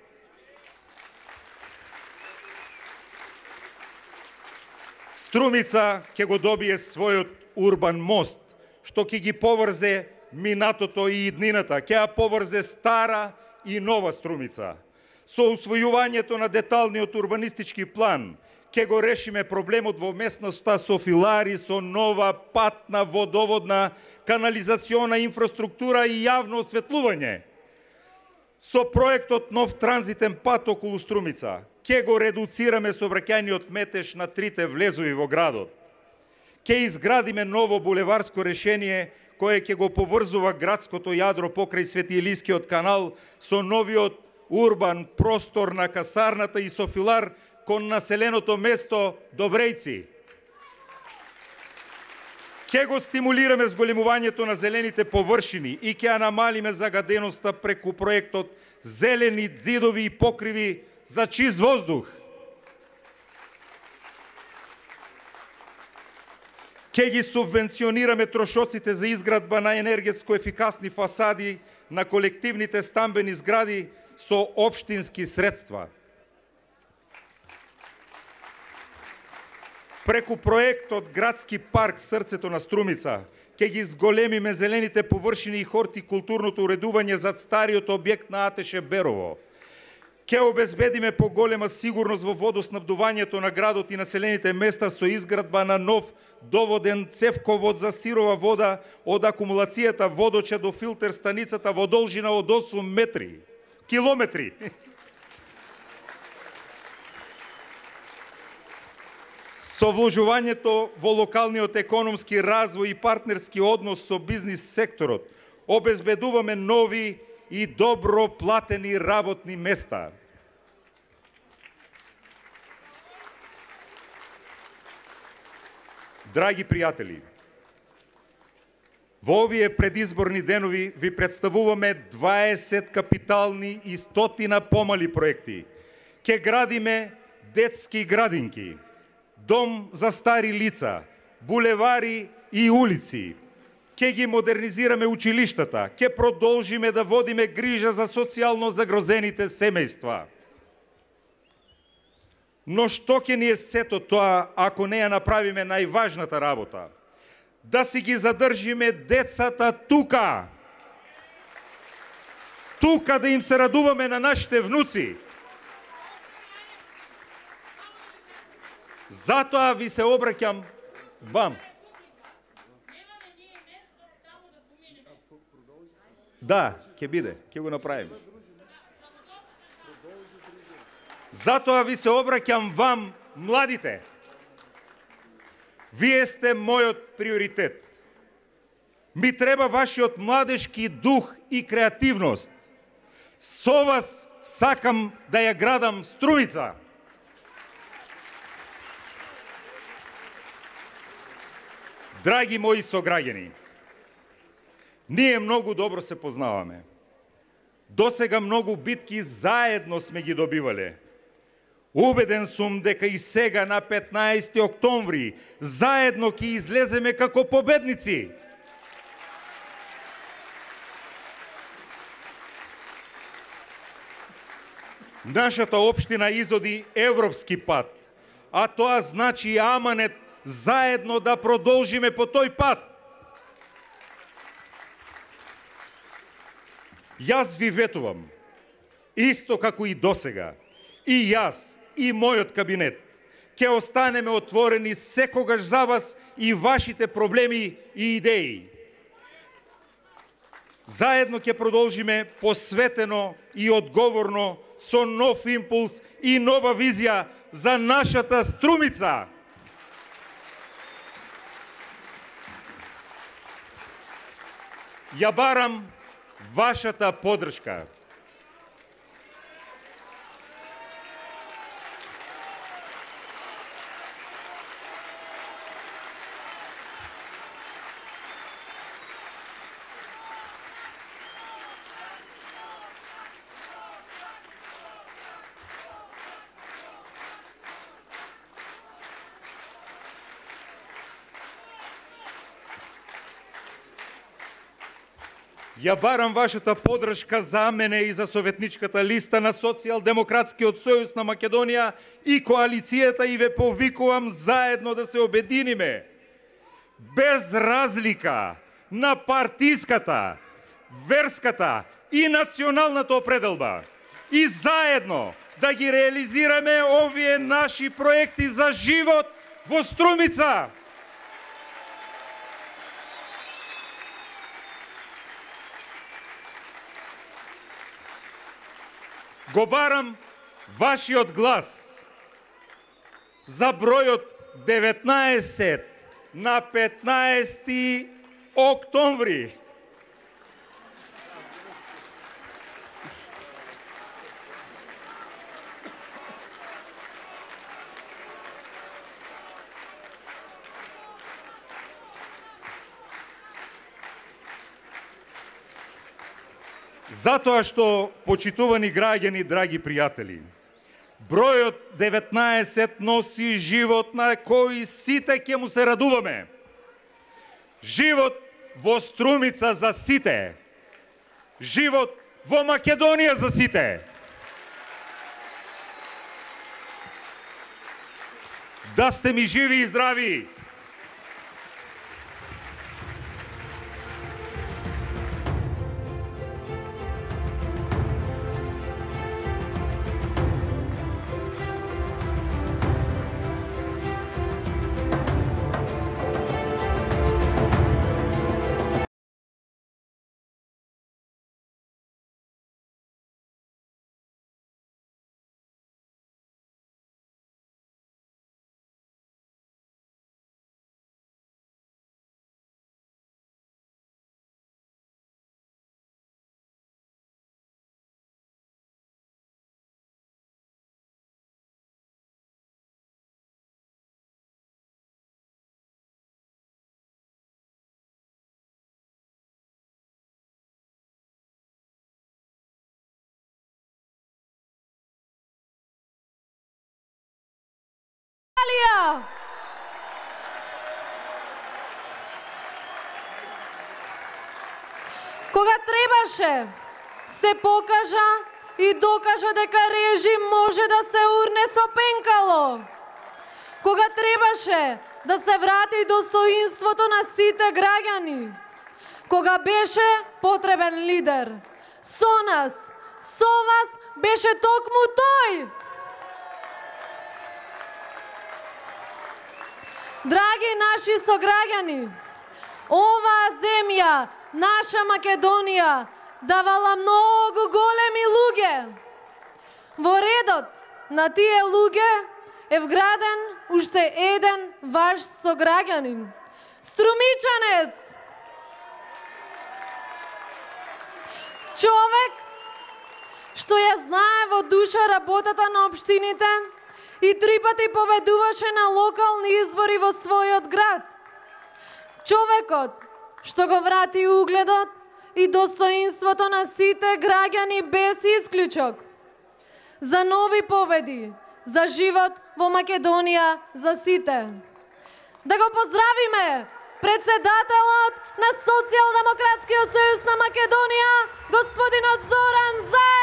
Струмица ќе го добие својот урбан мост, што ќе ги поврзе минатото и иднината, ќе ја поврзе стара и нова Струмица. Со усвојувањето на деталниот урбанистички план, ќе го решиме проблемот во местноста со филари, со нова патна, водоводна, канализациона инфраструктура и јавно осветлување. Со проектот нов транзитен пат околу Струмица, ќе го редуцираме сообраќајниот метеж на трите влезови во градот. Ќе изградиме ново булеварско решение кое ќе го поврзува градското јадро покрај Свети Илискиот канал со новиот урбан простор на касарната и со филар кон населеното место Добрејци. Ќе го стимулираме зголемувањето на зелените површини и ќе ја намалиме загаденоста преку проектот Зелени ѕидови и покриви за чист воздух. Ќе ги субвенционираме трошоците за изградба на енергетско ефикасни фасади на колективните стамбени згради со општински средства. Преку проектот Градски парк Срцето на Струмица ќе ги зголемиме зелените површини и хортикултурното уредување за стариот објект на АТШ Берово. Ќе обезбедиме поголема сигурност во водоснабдувањето на градот и населените места со изградба на нов доводен цевковод за сирова вода од акумулацијата водоча до филтер станицата во должина од осум метри. Километри. Со вложувањето во локалниот економски развој и партнерски однос со бизнис секторот, обезбедуваме нови и добро платени работни места. Драги пријатели, во овие предизборни денови ви представуваме дваесет капитални и стотина помали проекти. Ке градиме детски градинки, дом за стари лица, булевари и улици. Ке ги модернизираме училиштата, ке продолжиме да водиме грижа за социјално загрозените семејства. Но што ќе ни е сето тоа ако не ја направиме најважната работа? Да си ги задржиме децата тука. Тука да им се радуваме на нашите внуци. Затоа ви се обраќам вам. Да, ќе биде, ќе го направиме. Затоа ви се обраќам вам, младите. Вие сте мојот приоритет. Ми треба вашиот младешки дух и креативност. Со вас сакам да ја градам Струмица. Драги мои сограѓани, ние многу добро се познаваме. Досега многу битки заедно сме ги добивале. Убеден сум дека и сега на петнаесети октомври заедно ќе излеземе како победници. Нашата општина изоди европски пат, а тоа значи аманет заедно да продолжиме по тој пат. Јас ви ветувам, исто како и досега, И јас, и мојот кабинет ќе останеме отворени секогаш за вас и вашите проблеми и идеи. Заедно ќе продолжиме посветено и одговорно со нов импулс и нова визија за нашата Струмица. Ја барам вашата поддршка. Ја барам вашата поддршка за мене и за советничката листа на Социјалдемократскиот сојуз на Македонија и коалицијата и ве повикувам заедно да се обединиме. Без разлика на партиската, верската и националната определба. И заедно да ги реализираме овие наши проекти за живот во Струмица. Го барам вашиот глас за бројот деветнаесет на петнаесети октомври. Затоа што, почитувани граѓани, драги пријатели, бројот деветнаесет носи живот на кој сите ќе му се радуваме. Живот во Струмица за сите. Живот во Македонија за сите. Да сте ми живи и здрави. Кога требаше, се покажа и докажа дека режим може да се урне со пенкало. Кога требаше да се врати достоинството на сите граѓани. Кога беше потребен лидер. Со нас, со вас беше токму тој. Драги наши сограѓани, оваа земја, наша Македонија, давала многу големи луѓе. Во редот на тие луѓе е вграден уште еден ваш сограѓанин, струмичанец. Човек што ја знае во душа работата на општините и три пати победуваше на локални избори во својот град. Човекот што го врати угледот и достоинството на сите граѓани без исклучок. За нови победи, за живот во Македонија за сите. Да го поздравиме председателот на Социјалдемократскиот сојуз на Македонија, господинот Зоран Заев.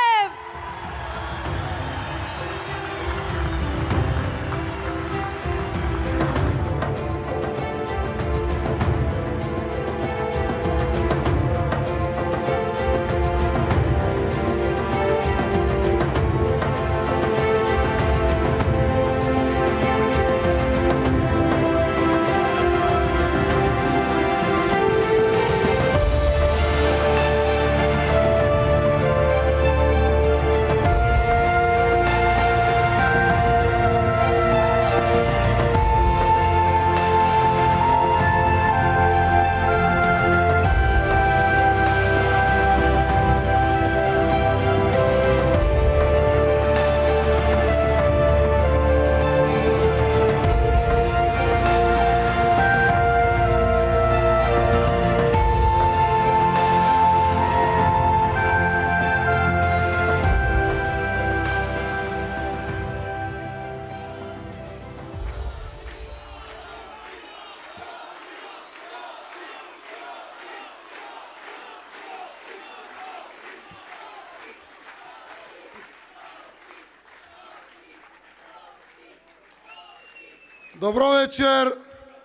Добро вечер,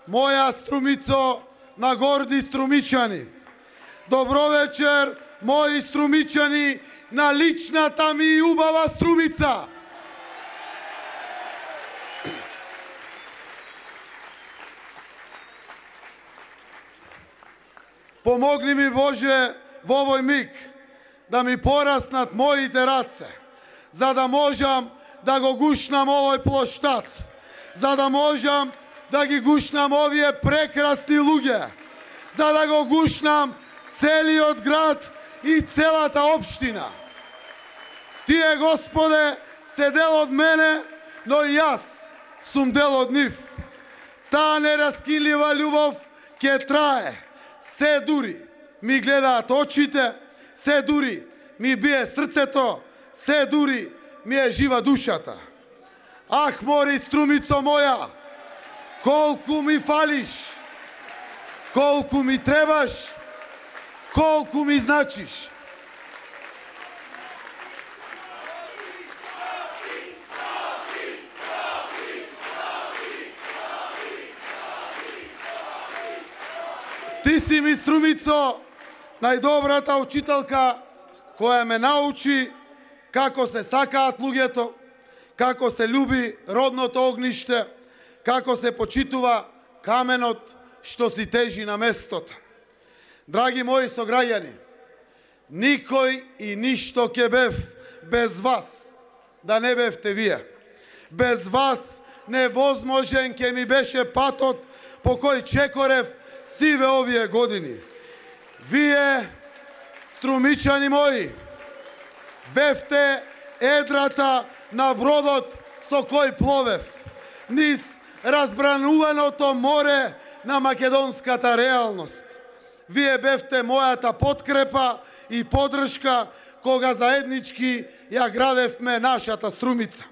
моја Струмицо на горди струмичани. Добро вечер, мои струмичани на личната ми убава Струмица. Помогни ми, Боже, во овој миг да ми пораснат моите раце, за да можам да го гушнам овој плоштад, за да можам да ги гушнам овие прекрасни луѓе, за да го гушнам целиот град и целата општина. Тие, Господе, се дел од мене, но и јас сум дел од нив. Таа нераскинлива љубов ќе трае. Се дури ми гледаат очите, се дури ми бие срцето, се дури ми е жива душата. Ах, мори Струмицо моја, колку ми фалиш, колку ми требаш, колку ми значиш. Ти си ми, Струмицо, најдобрата учителка која ме научи како се сакаат луѓето, како се љуби родното огниште, како се почитува каменот што си тежи на местото. Драги мои сограѓани, никој и ништо ке бев без вас, да не бевте вие. Без вас невозможен ке ми беше патот по кој чекорев сиве овие години. Вие, струмичани мои, бевте едрата на бродот со кој пловев, низ разбрануваното море на македонската реалност. Вие бевте мојата подкрепа и поддршка кога заеднички ја градевме нашата Струмица.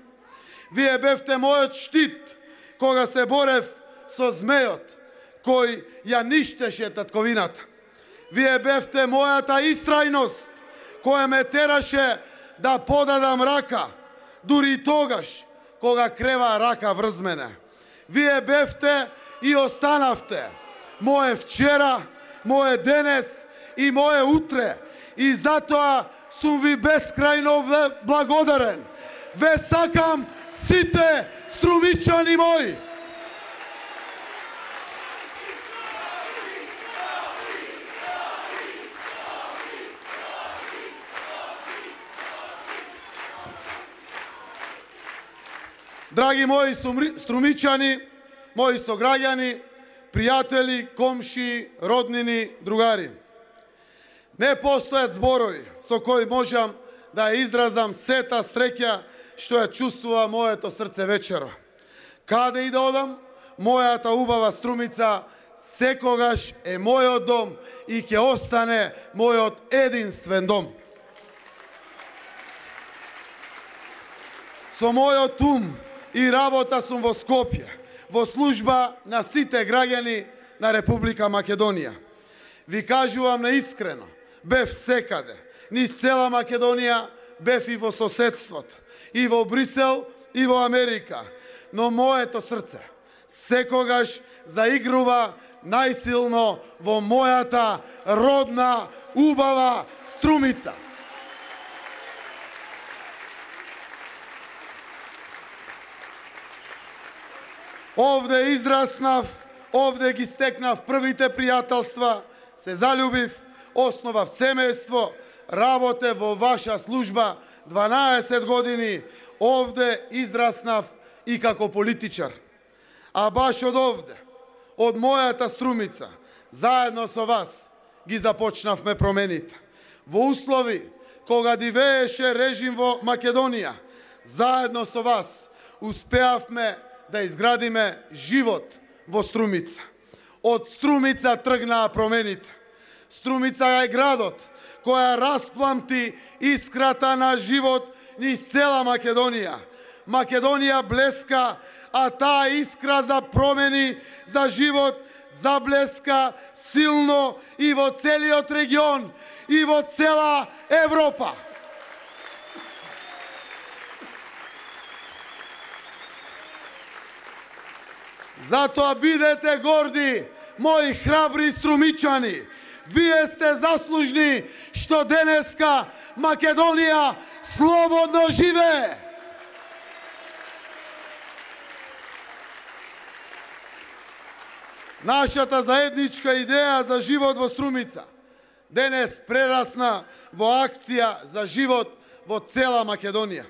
Вие бевте мојот штит кога се борев со змејот кој ја ништеше татковината. Вие бевте мојата истрајност која ме тераше да подадам рака, дури и тогаш кога крева рака врз мене. Вие бевте и останавте моје вчера, моје денес и моје утре, и затоа сум ви бескрајно благодарен. Ве сакам сите струмичани мои. Драги мои струмичани, мои сограѓани, пријатели, комши, роднини, другари. Не постојат зборови со кои можам да ја изразам сета среќа што ја чувствува моето срце вечера. Каде и да одам, мојата убава Струмица секогаш е мојот дом и ќе остане мојот единствен дом. Со мојот ум и работа сум во Скопје, во служба на сите граѓани на Република Македонија. Ви кажувам наискрено, бев секаде, низ цела Македонија, бев и во соседството, и во Брисел, и во Америка, но моето срце секогаш заигрува најсилно во мојата родна, убава Струмица. Овде израснав, овде ги стекнав првите пријателства, се заљубив, основав семејство, работе во ваша служба дванаесет години, овде израснав и како политичар. А баш од овде, од мојата Струмица, заедно со вас ги започнавме промените. Во услови кога дивееше режим во Македонија, заедно со вас успеавме да изградиме живот во Струмица. Од Струмица тргнаа промените. Струмица е градот која распламти искрата на живот низ цела Македонија. Македонија блеска, а таа искра за промени, за живот, заблеска силно и во целиот регион, и во цела Европа. Затоа бидете горди, мои храбри струмичани. Вие сте заслужни што денеска Македонија слободно живее. Нашата заедничка идеја за живот во Струмица денес прерасна во акција за живот во цела Македонија.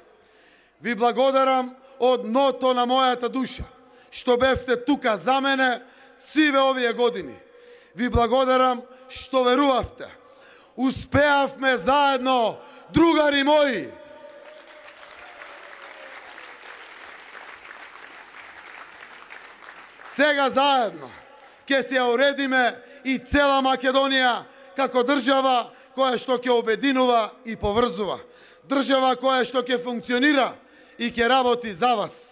Ви благодарам од дното на мојата душа што бевте тука за мене сиве овие години. Ви благодарам што верувавте. Успеавме заедно, другари мои. Сега заедно ќе се уредиме и цела Македонија како држава која што ќе обединува и поврзува. Држава која што ќе функционира и ќе работи за вас.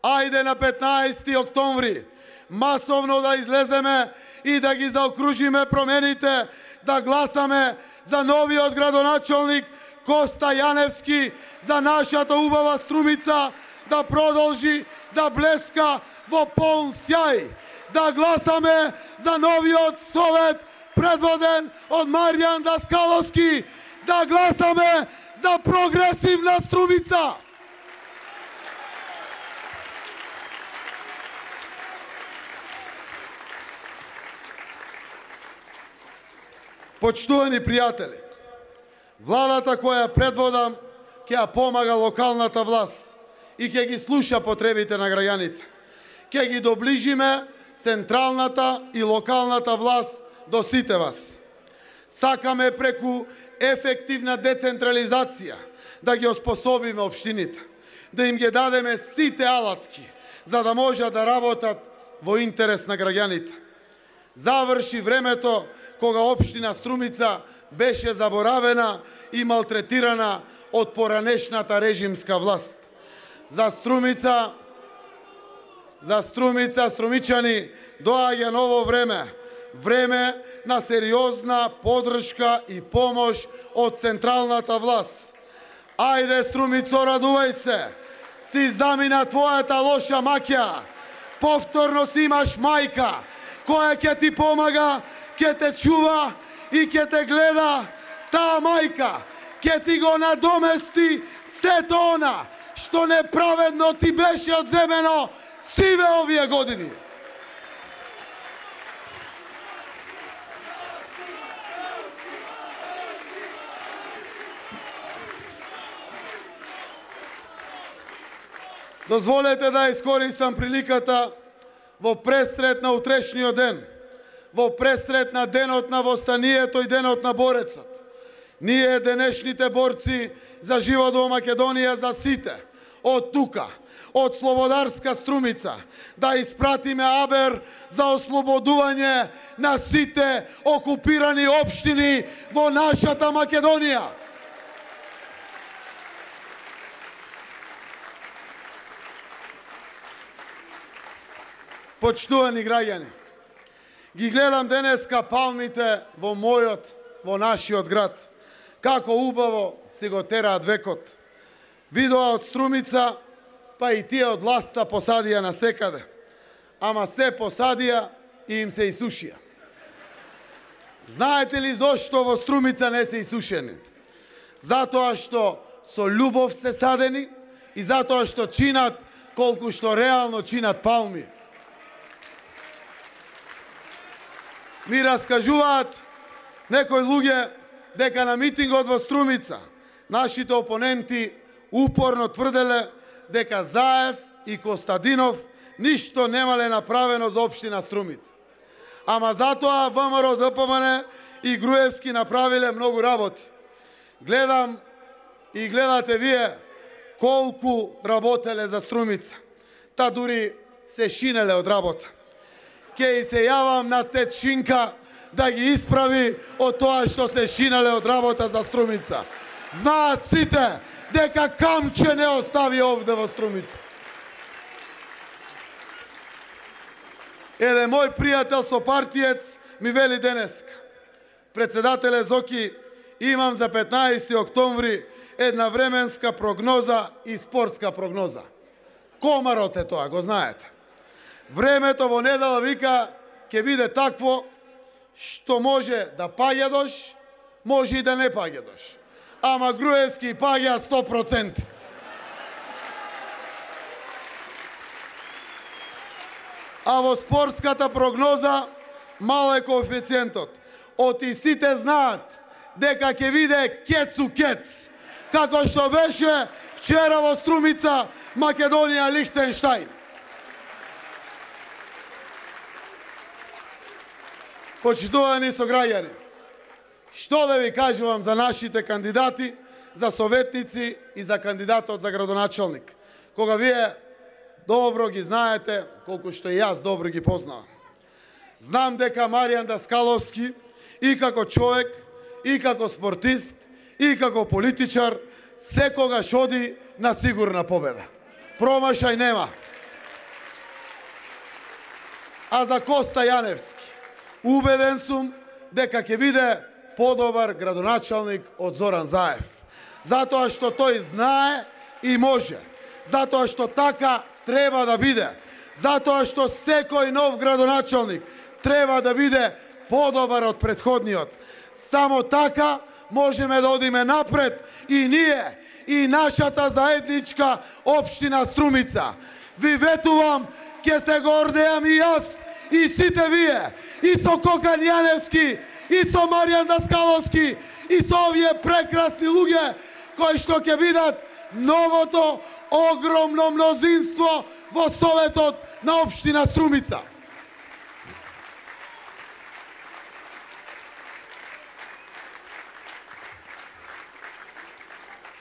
Ајде на петнаесети октомври масовно да излеземе и да ги заокружиме промените, да гласаме за новиот градоначалник Коста Јаневски, за нашата убава Струмица да продолжи да блеска во полн сјај. Да гласаме за новиот совет предводен од Маријан Даскаловски. Да гласаме за прогресивна Струмица. Почтувани пријатели, владата која предводам ќе ја помага локалната власт и ќе ги слуша потребите на граѓаните. Ќе ги доближиме централната и локалната власт до сите вас. Сакаме преку ефективна децентрализација да ги оспособиме општините, да им ги дадеме сите алатки за да можат да работат во интерес на граѓаните. Заврши времето кога општина Струмица беше заборавена и малтретирана од поранешната режимска власт. За Струмица, за Струмица, струмичани, доаѓа ново време. Време на сериозна подршка и помош од централната власт. Ајде, Струмицо, радувај се. Си замина твојата лоша маќа. Повторно си имаш мајка која ќе ти помага, ќе те чува и ќе те гледа. Таа мајка ќе ти го надомести сето она што неправедно ти беше одземено сиве овие години. Дозволете да искористам приликата во пресрет на утрешниот ден, во пресрет на денот на востанието и денот на борецот. Ние, денешните борци за живот во Македонија, за сите, од тука, од Слободарска Струмица, да испратиме абер за ослободување на сите окупирани општини во нашата Македонија. Почтувани граѓани, ги гледам денеска палмите во мојот, во нашиот град. Како убаво си го тераат векот. Видоа од Струмица, па и тие од власта посадија на секаде. Ама се посадија и им се исушија. Знаете ли зошто во Струмица не се исушени? Затоа што со љубов се садени и затоа што чинат колку што реално чинат палми. Ми раскажуваат некои луѓе дека на митингот во Струмица нашите опоненти упорно тврделе дека Заев и Костадинов ништо немале направено за општина Струмица. Ама затоа ВМРО Д П М Н и Груевски направиле многу работи. Гледам и гледате вие колку работеле за Струмица. Та дури се шинеле од работа. Ке и се јавам на Тет Шинка да ги исправи од тоа што се шинале од работа за Струмица. Знаат сите дека камче не остави овде во Струмица. Еден мој пријател со партиец ми вели денеска: председателе Зоки, имам за петнаесети октомври една временска прогноза и спортска прогноза. Комарот е тоа, го знаете. Времето во недела вика ќе биде такво што може да паѓедош, може и да не паѓедош. Ама Груевски паѓа сто проценти. А во спортската прогноза мал е коефициентот. Оти сите знаат дека ќе биде кецу кец, како што беше вчера во Струмица, Македонија, Лихтенштајн. Почитувани сограѓани, што да ви кажувам за нашите кандидати, за советници и за кандидатот за градоначалник, кога вие добро ги знаете, колку што и јас добро ги познавам. Знам дека Маријан Даскаловски и како човек, и како спортист, и како политичар, секогаш оди на сигурна победа. Промашај нема. А за Коста Јаневски, убеден сум дека ќе биде подобар градоначалник од Зоран Заев. Затоа што тој знае и може. Затоа што така треба да биде. Затоа што секој нов градоначалник треба да биде подобар од претходниот. Само така можеме да одиме напред и ние, и нашата заедничка општина Струмица. Ви ветувам, ќе се гордеам и јас, и сите вие, и со Кокан Јаневски, и со Маријан Даскаловски, и со овие прекрасни луѓе, кои што ќе бидат новото огромно мнозинство во Советот на општина Струмица.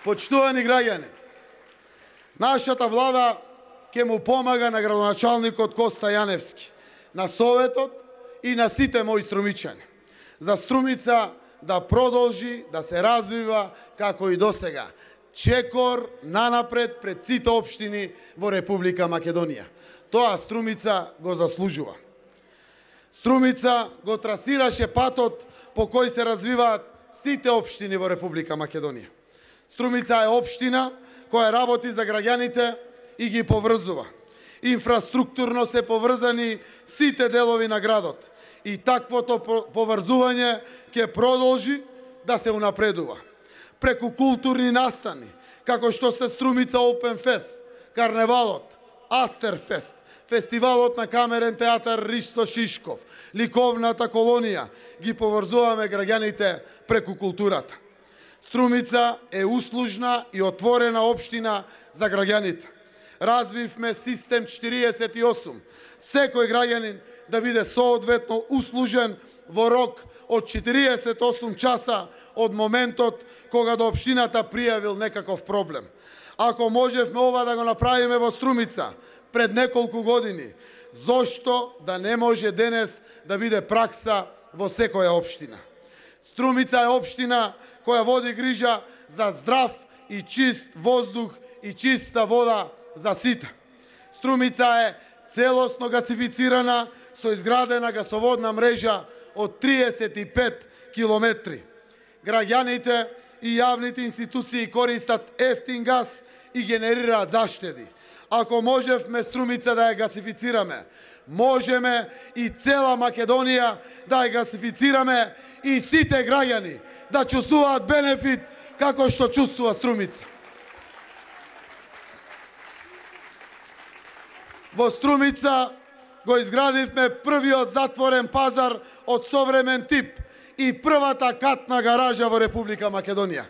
Почитувани граѓани, нашата влада ќе му помага на градоначалникот Коста Јаневски, на Советот и на сите мои струмичани. За Струмица да продолжи да се развива како и досега. Чекор нанапред пред сите општини во Република Македонија. Тоа Струмица го заслужува. Струмица го трасираше патот по кој се развиваат сите општини во Република Македонија. Струмица е општина која работи за граѓаните и ги поврзува. Инфраструктурно се поврзани сите делови на градот и таквото поврзување ќе продолжи да се унапредува. Преку културни настани, како што се Струмица Open Fest, Карневалот, Астерфест, Фестивалот на камерен театар Ристо Шишков, Ликовната колонија, ги поврзуваме граѓаните преку културата. Струмица е услужна и отворена општина за граѓаните. Развивме систем четириесет и осум. Секој граѓанин да биде соодветно услужен во рок од четириесет и осум часа од моментот кога до општината пријавил некаков проблем. Ако можевме ова да го направиме во Струмица пред неколку години, зошто да не може денес да биде пракса во секоја општина? Струмица е општина која води грижа за здрав и чист воздух и чиста вода за сите. Струмица е целосно гасифицирана со изградена гасоводна мрежа од триесет и пет километри. Граѓаните и јавните институции користат ефтин гас и генерираат заштеди. Ако можевме Струмица да ја гасифицираме, можеме и цела Македонија да ја гасифицираме и сите граѓани да чувствуваат бенефит како што чувствува Струмица. Во Струмица го изградивме првиот затворен пазар од современ тип и првата катна гаража во Република Македонија.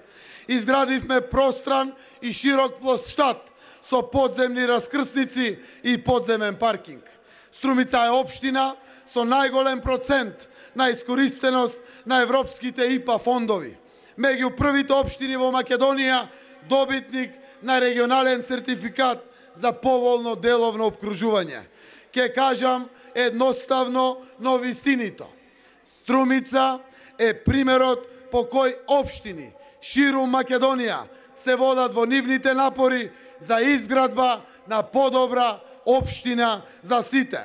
Изградивме простран и широк плоштад со подземни раскрсници и подземен паркинг. Струмица е општина со најголем процент на искористеност на европските ИПА фондови. Меѓу првите општини во Македонија добитник на регионален сертификат за поволно деловно обкружување. Ке кажам едноставно, но вистинито. Струмица е примерот по кој општини ширум Македонија се водат во нивните напори за изградба на подобра општина за сите.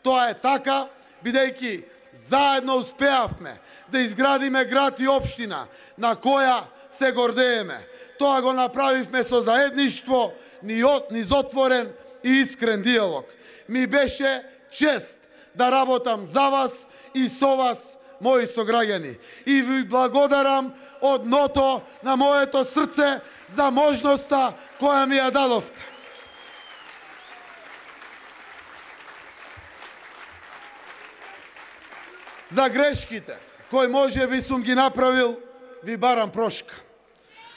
Тоа е така, бидејќи заедно успеавме да изградиме град и општина на која се гордееме. Тоа го направивме со заедништво, низ отворен и искрен диалог. ми беше чест да работам за вас и со вас, мои сограѓани. И ви благодарам од дното на моето срце за можноста која ми ја дадовте. За грешките кои може би сум ги направил, ви барам прошка.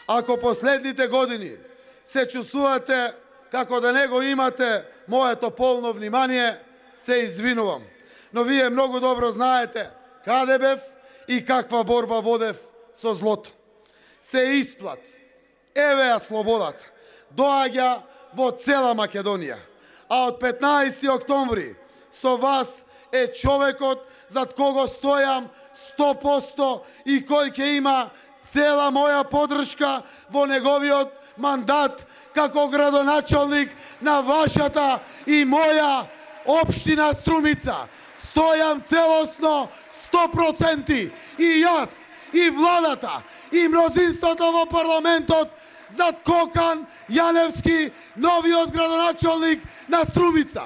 Ако последните години се чувствувате како да не го имате моето полно внимание, се извинувам. Но вие многу добро знаете каде бев и каква борба водев со злото. Се исплати. Еве ја слободата. Доаѓа во цела Македонија. А од петнаесети октомври со вас е човекот зад кого стојам сто проценти и кој ќе има цела моја поддршка во неговиот мандат како градоначалник на вашата и моја општина Струмица. Стојам целосно сто проценти и јас, и владата, и мнозинството во парламентот зад Кокан Јаневски, новиот градоначалник на Струмица.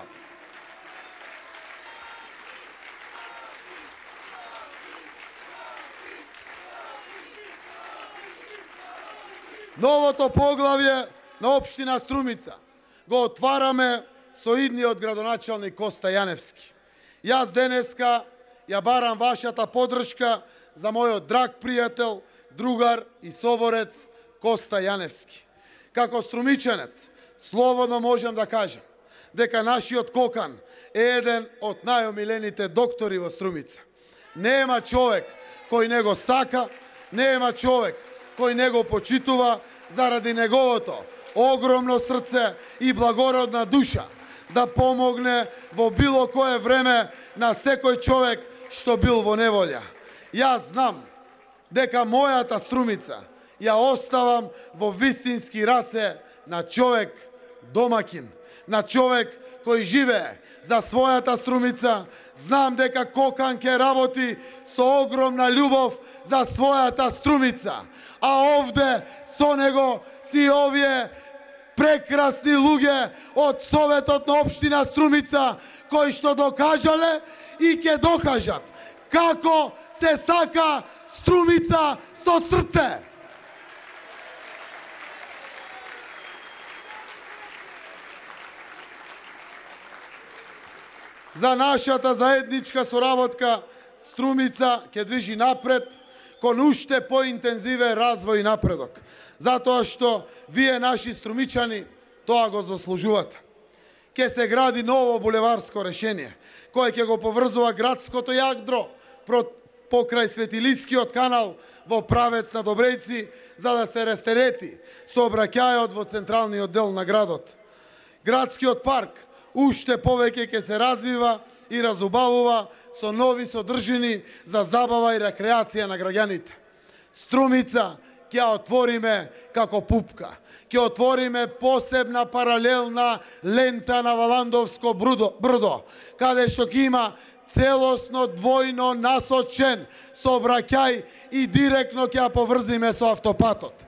Новото поглавје на општина Струмица го отвараме со идниот градоначалник Коста Јаневски. Јас денеска ја барам вашата поддршка за мојот драг пријател, другар и соборец Коста Јаневски. Како струмичанец, слободно можам да кажам дека нашиот Кокан е еден од најомилените доктори во Струмица. Нема човек кој не го сака, нема човек кој не го почитува заради неговото огромно срце и благородна душа да помогне во било кое време на секој човек што бил во неволја. Јас знам дека мојата Струмица ја оставам во вистински раце на човек домакин, на човек кој живее за својата Струмица. Знам дека Кокан ќе работи со огромна љубов за својата Струмица. А овде со него си овие прекрасни луѓе од Советот на општина Струмица кои што докажале и ќе докажат како се сака Струмица со срце. За нашата заедничка соработка Струмица ќе движи напред кон уште поинтензивен развој и напредок. Затоа што вие, наши струмичани, тоа го заслужувате. Ке се гради ново булеварско решение, кое ќе го поврзува градското јадро покрај Светилискиот канал во правец на Добрејци, за да се растерети сообраќајот во централниот дел на градот. Градскиот парк уште повеќе ќе се развива и разубавува со нови содржини за забава и рекреација на граѓаните. Струмица ќе отвориме како пупка. Ќе отвориме посебна паралелна лента на Валандовско брдо, каде што ќе има целосно двојно насочен сообраќај и директно ќе ја поврзиме со автопатот.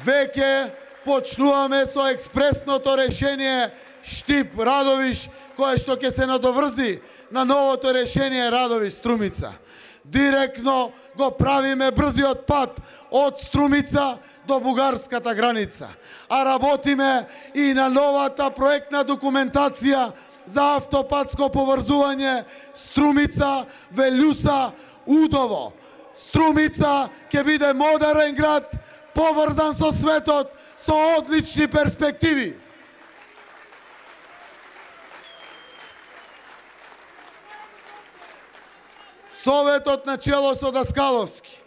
Веќе почнуваме со експресното решение Штип-Радовиш, кое што ќе се надоврзи на новото решение Радовиш-Струмица. Директно го правиме брзиот пат од Струмица до бугарската граница. А работиме и на новата проектна документација за автопатско поврзување Струмица, Велјуса, Удово. Струмица ќе биде модерен град, поврзан со светот, со одлични перспективи. Советот на чело со Даскаловски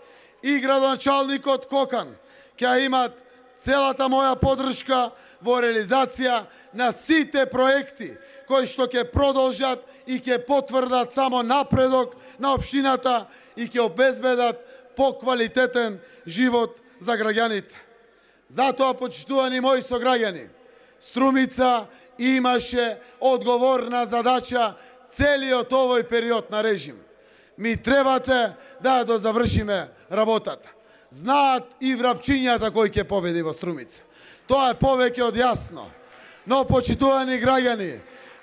и градоначалникот Кокан ќе имат целата моја поддршка во реализација на сите проекти кои што ќе продолжат и ќе потврдат само напредок на општината и ќе обезбедат поквалитетен живот за граѓаните. Затоа, почитувани мои сограѓани, Струмица имаше одговорна задача целиот овој период на режим. Ми требате да ја дозавршиме работата. Знаат и врапчињата кој ќе победи во Струмица. Тоа е повеќе од јасно. Но, почитувани граѓани,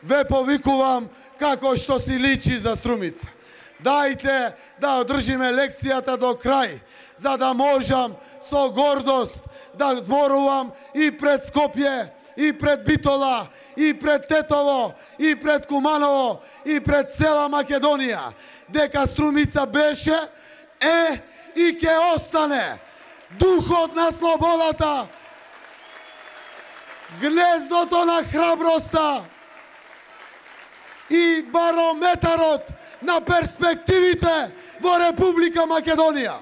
ве повикувам како што си личи за Струмица. Дајте да одржиме лекцијата до крај, за да можам со гордост да зборувам и пред Скопје, и пред Битола, и пред Тетово, и пред Куманово, и пред цела Македонија, дека Струмица беше, е и ќе остане духот на слободата, гнездото на храброста и барометарот на перспективите во Република Македонија.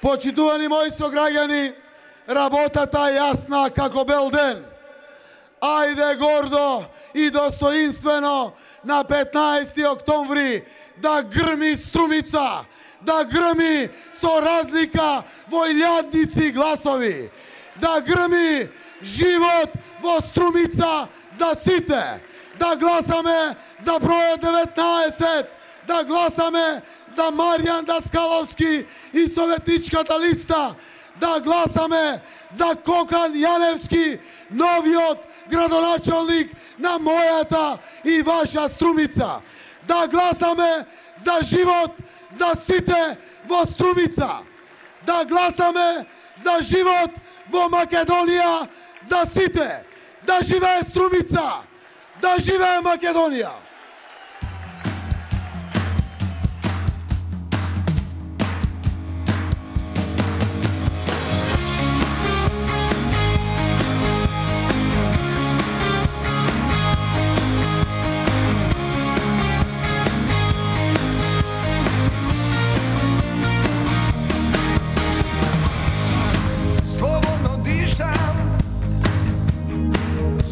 Почитувани мои сограѓани, работата е јасна како бел ден. Ајде гордо и достоинствено на петнаесети октомври да грми Струмица, да грми со разлика во илјадници гласови, да грми живот во Струмица за сите, да гласаме за бројот деветнаесет, да гласаме за Маријан Даскаловски и Советничката листа, да гласаме за Кокан Јаневски, новиот градоначалник на мојата и ваша Струмица. Да гласаме за живот за сите во Струмица. Да гласаме за живот во Македонија за сите. Да живее Струмица, да живее Македонија.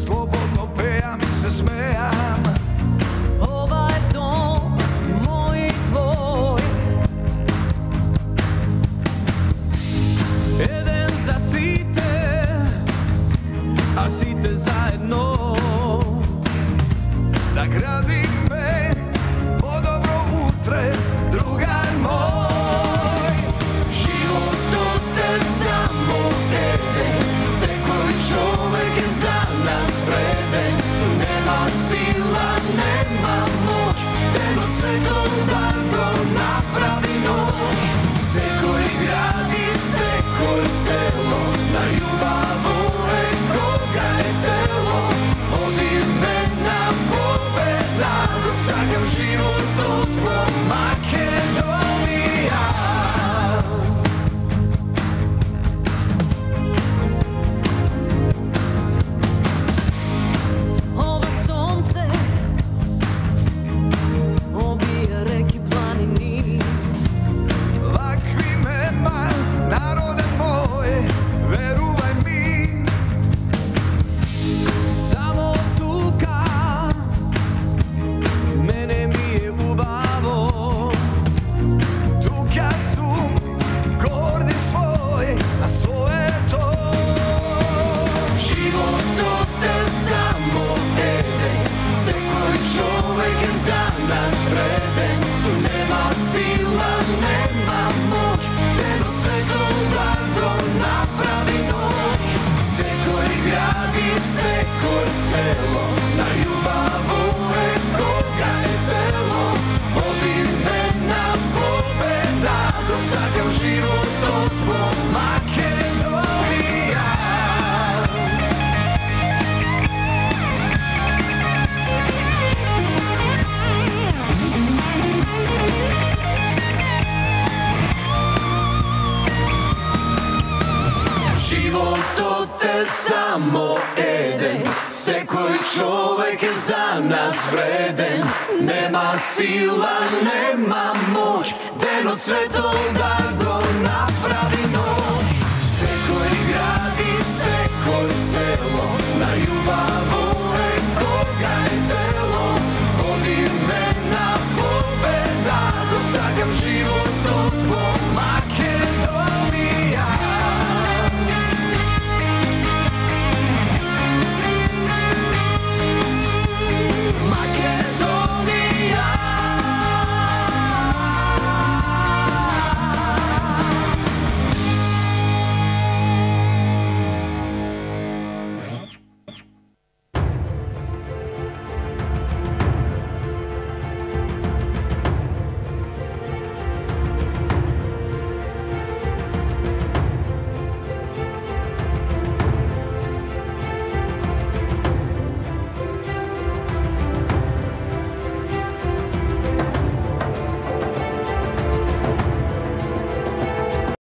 Slobodno pejam i se smejam. Ова е дом мој и твој. Еден за сите, а сите заедно. Да градиме по-добро утре, другар мој. Животот е само еден, секој човек е за нас вреден. Нема сила, нема моќ, денот светот да го направи ноќ. Секој град и секој село, најубаво е кога е цело. Одиме на победа, сакам животот во Македонија. Ова сонце, овие реки, планини. Вакви нема, народе мој, верувај ми. Само тука, мене ми е убаво. Тука сум, горди свој, на своето. Животот е само еден, секој човек е за нас вреден. Нема сила, нема моќ, денот светот да го направи ноќ. Секој град и секој село, најубаво е кога е цело. Одиме на победа, досакам животот во Македонија. Животот е само еден, секој човек е за нас вреден. Нема сила, нема моќ, денот светот да го направи ноќ.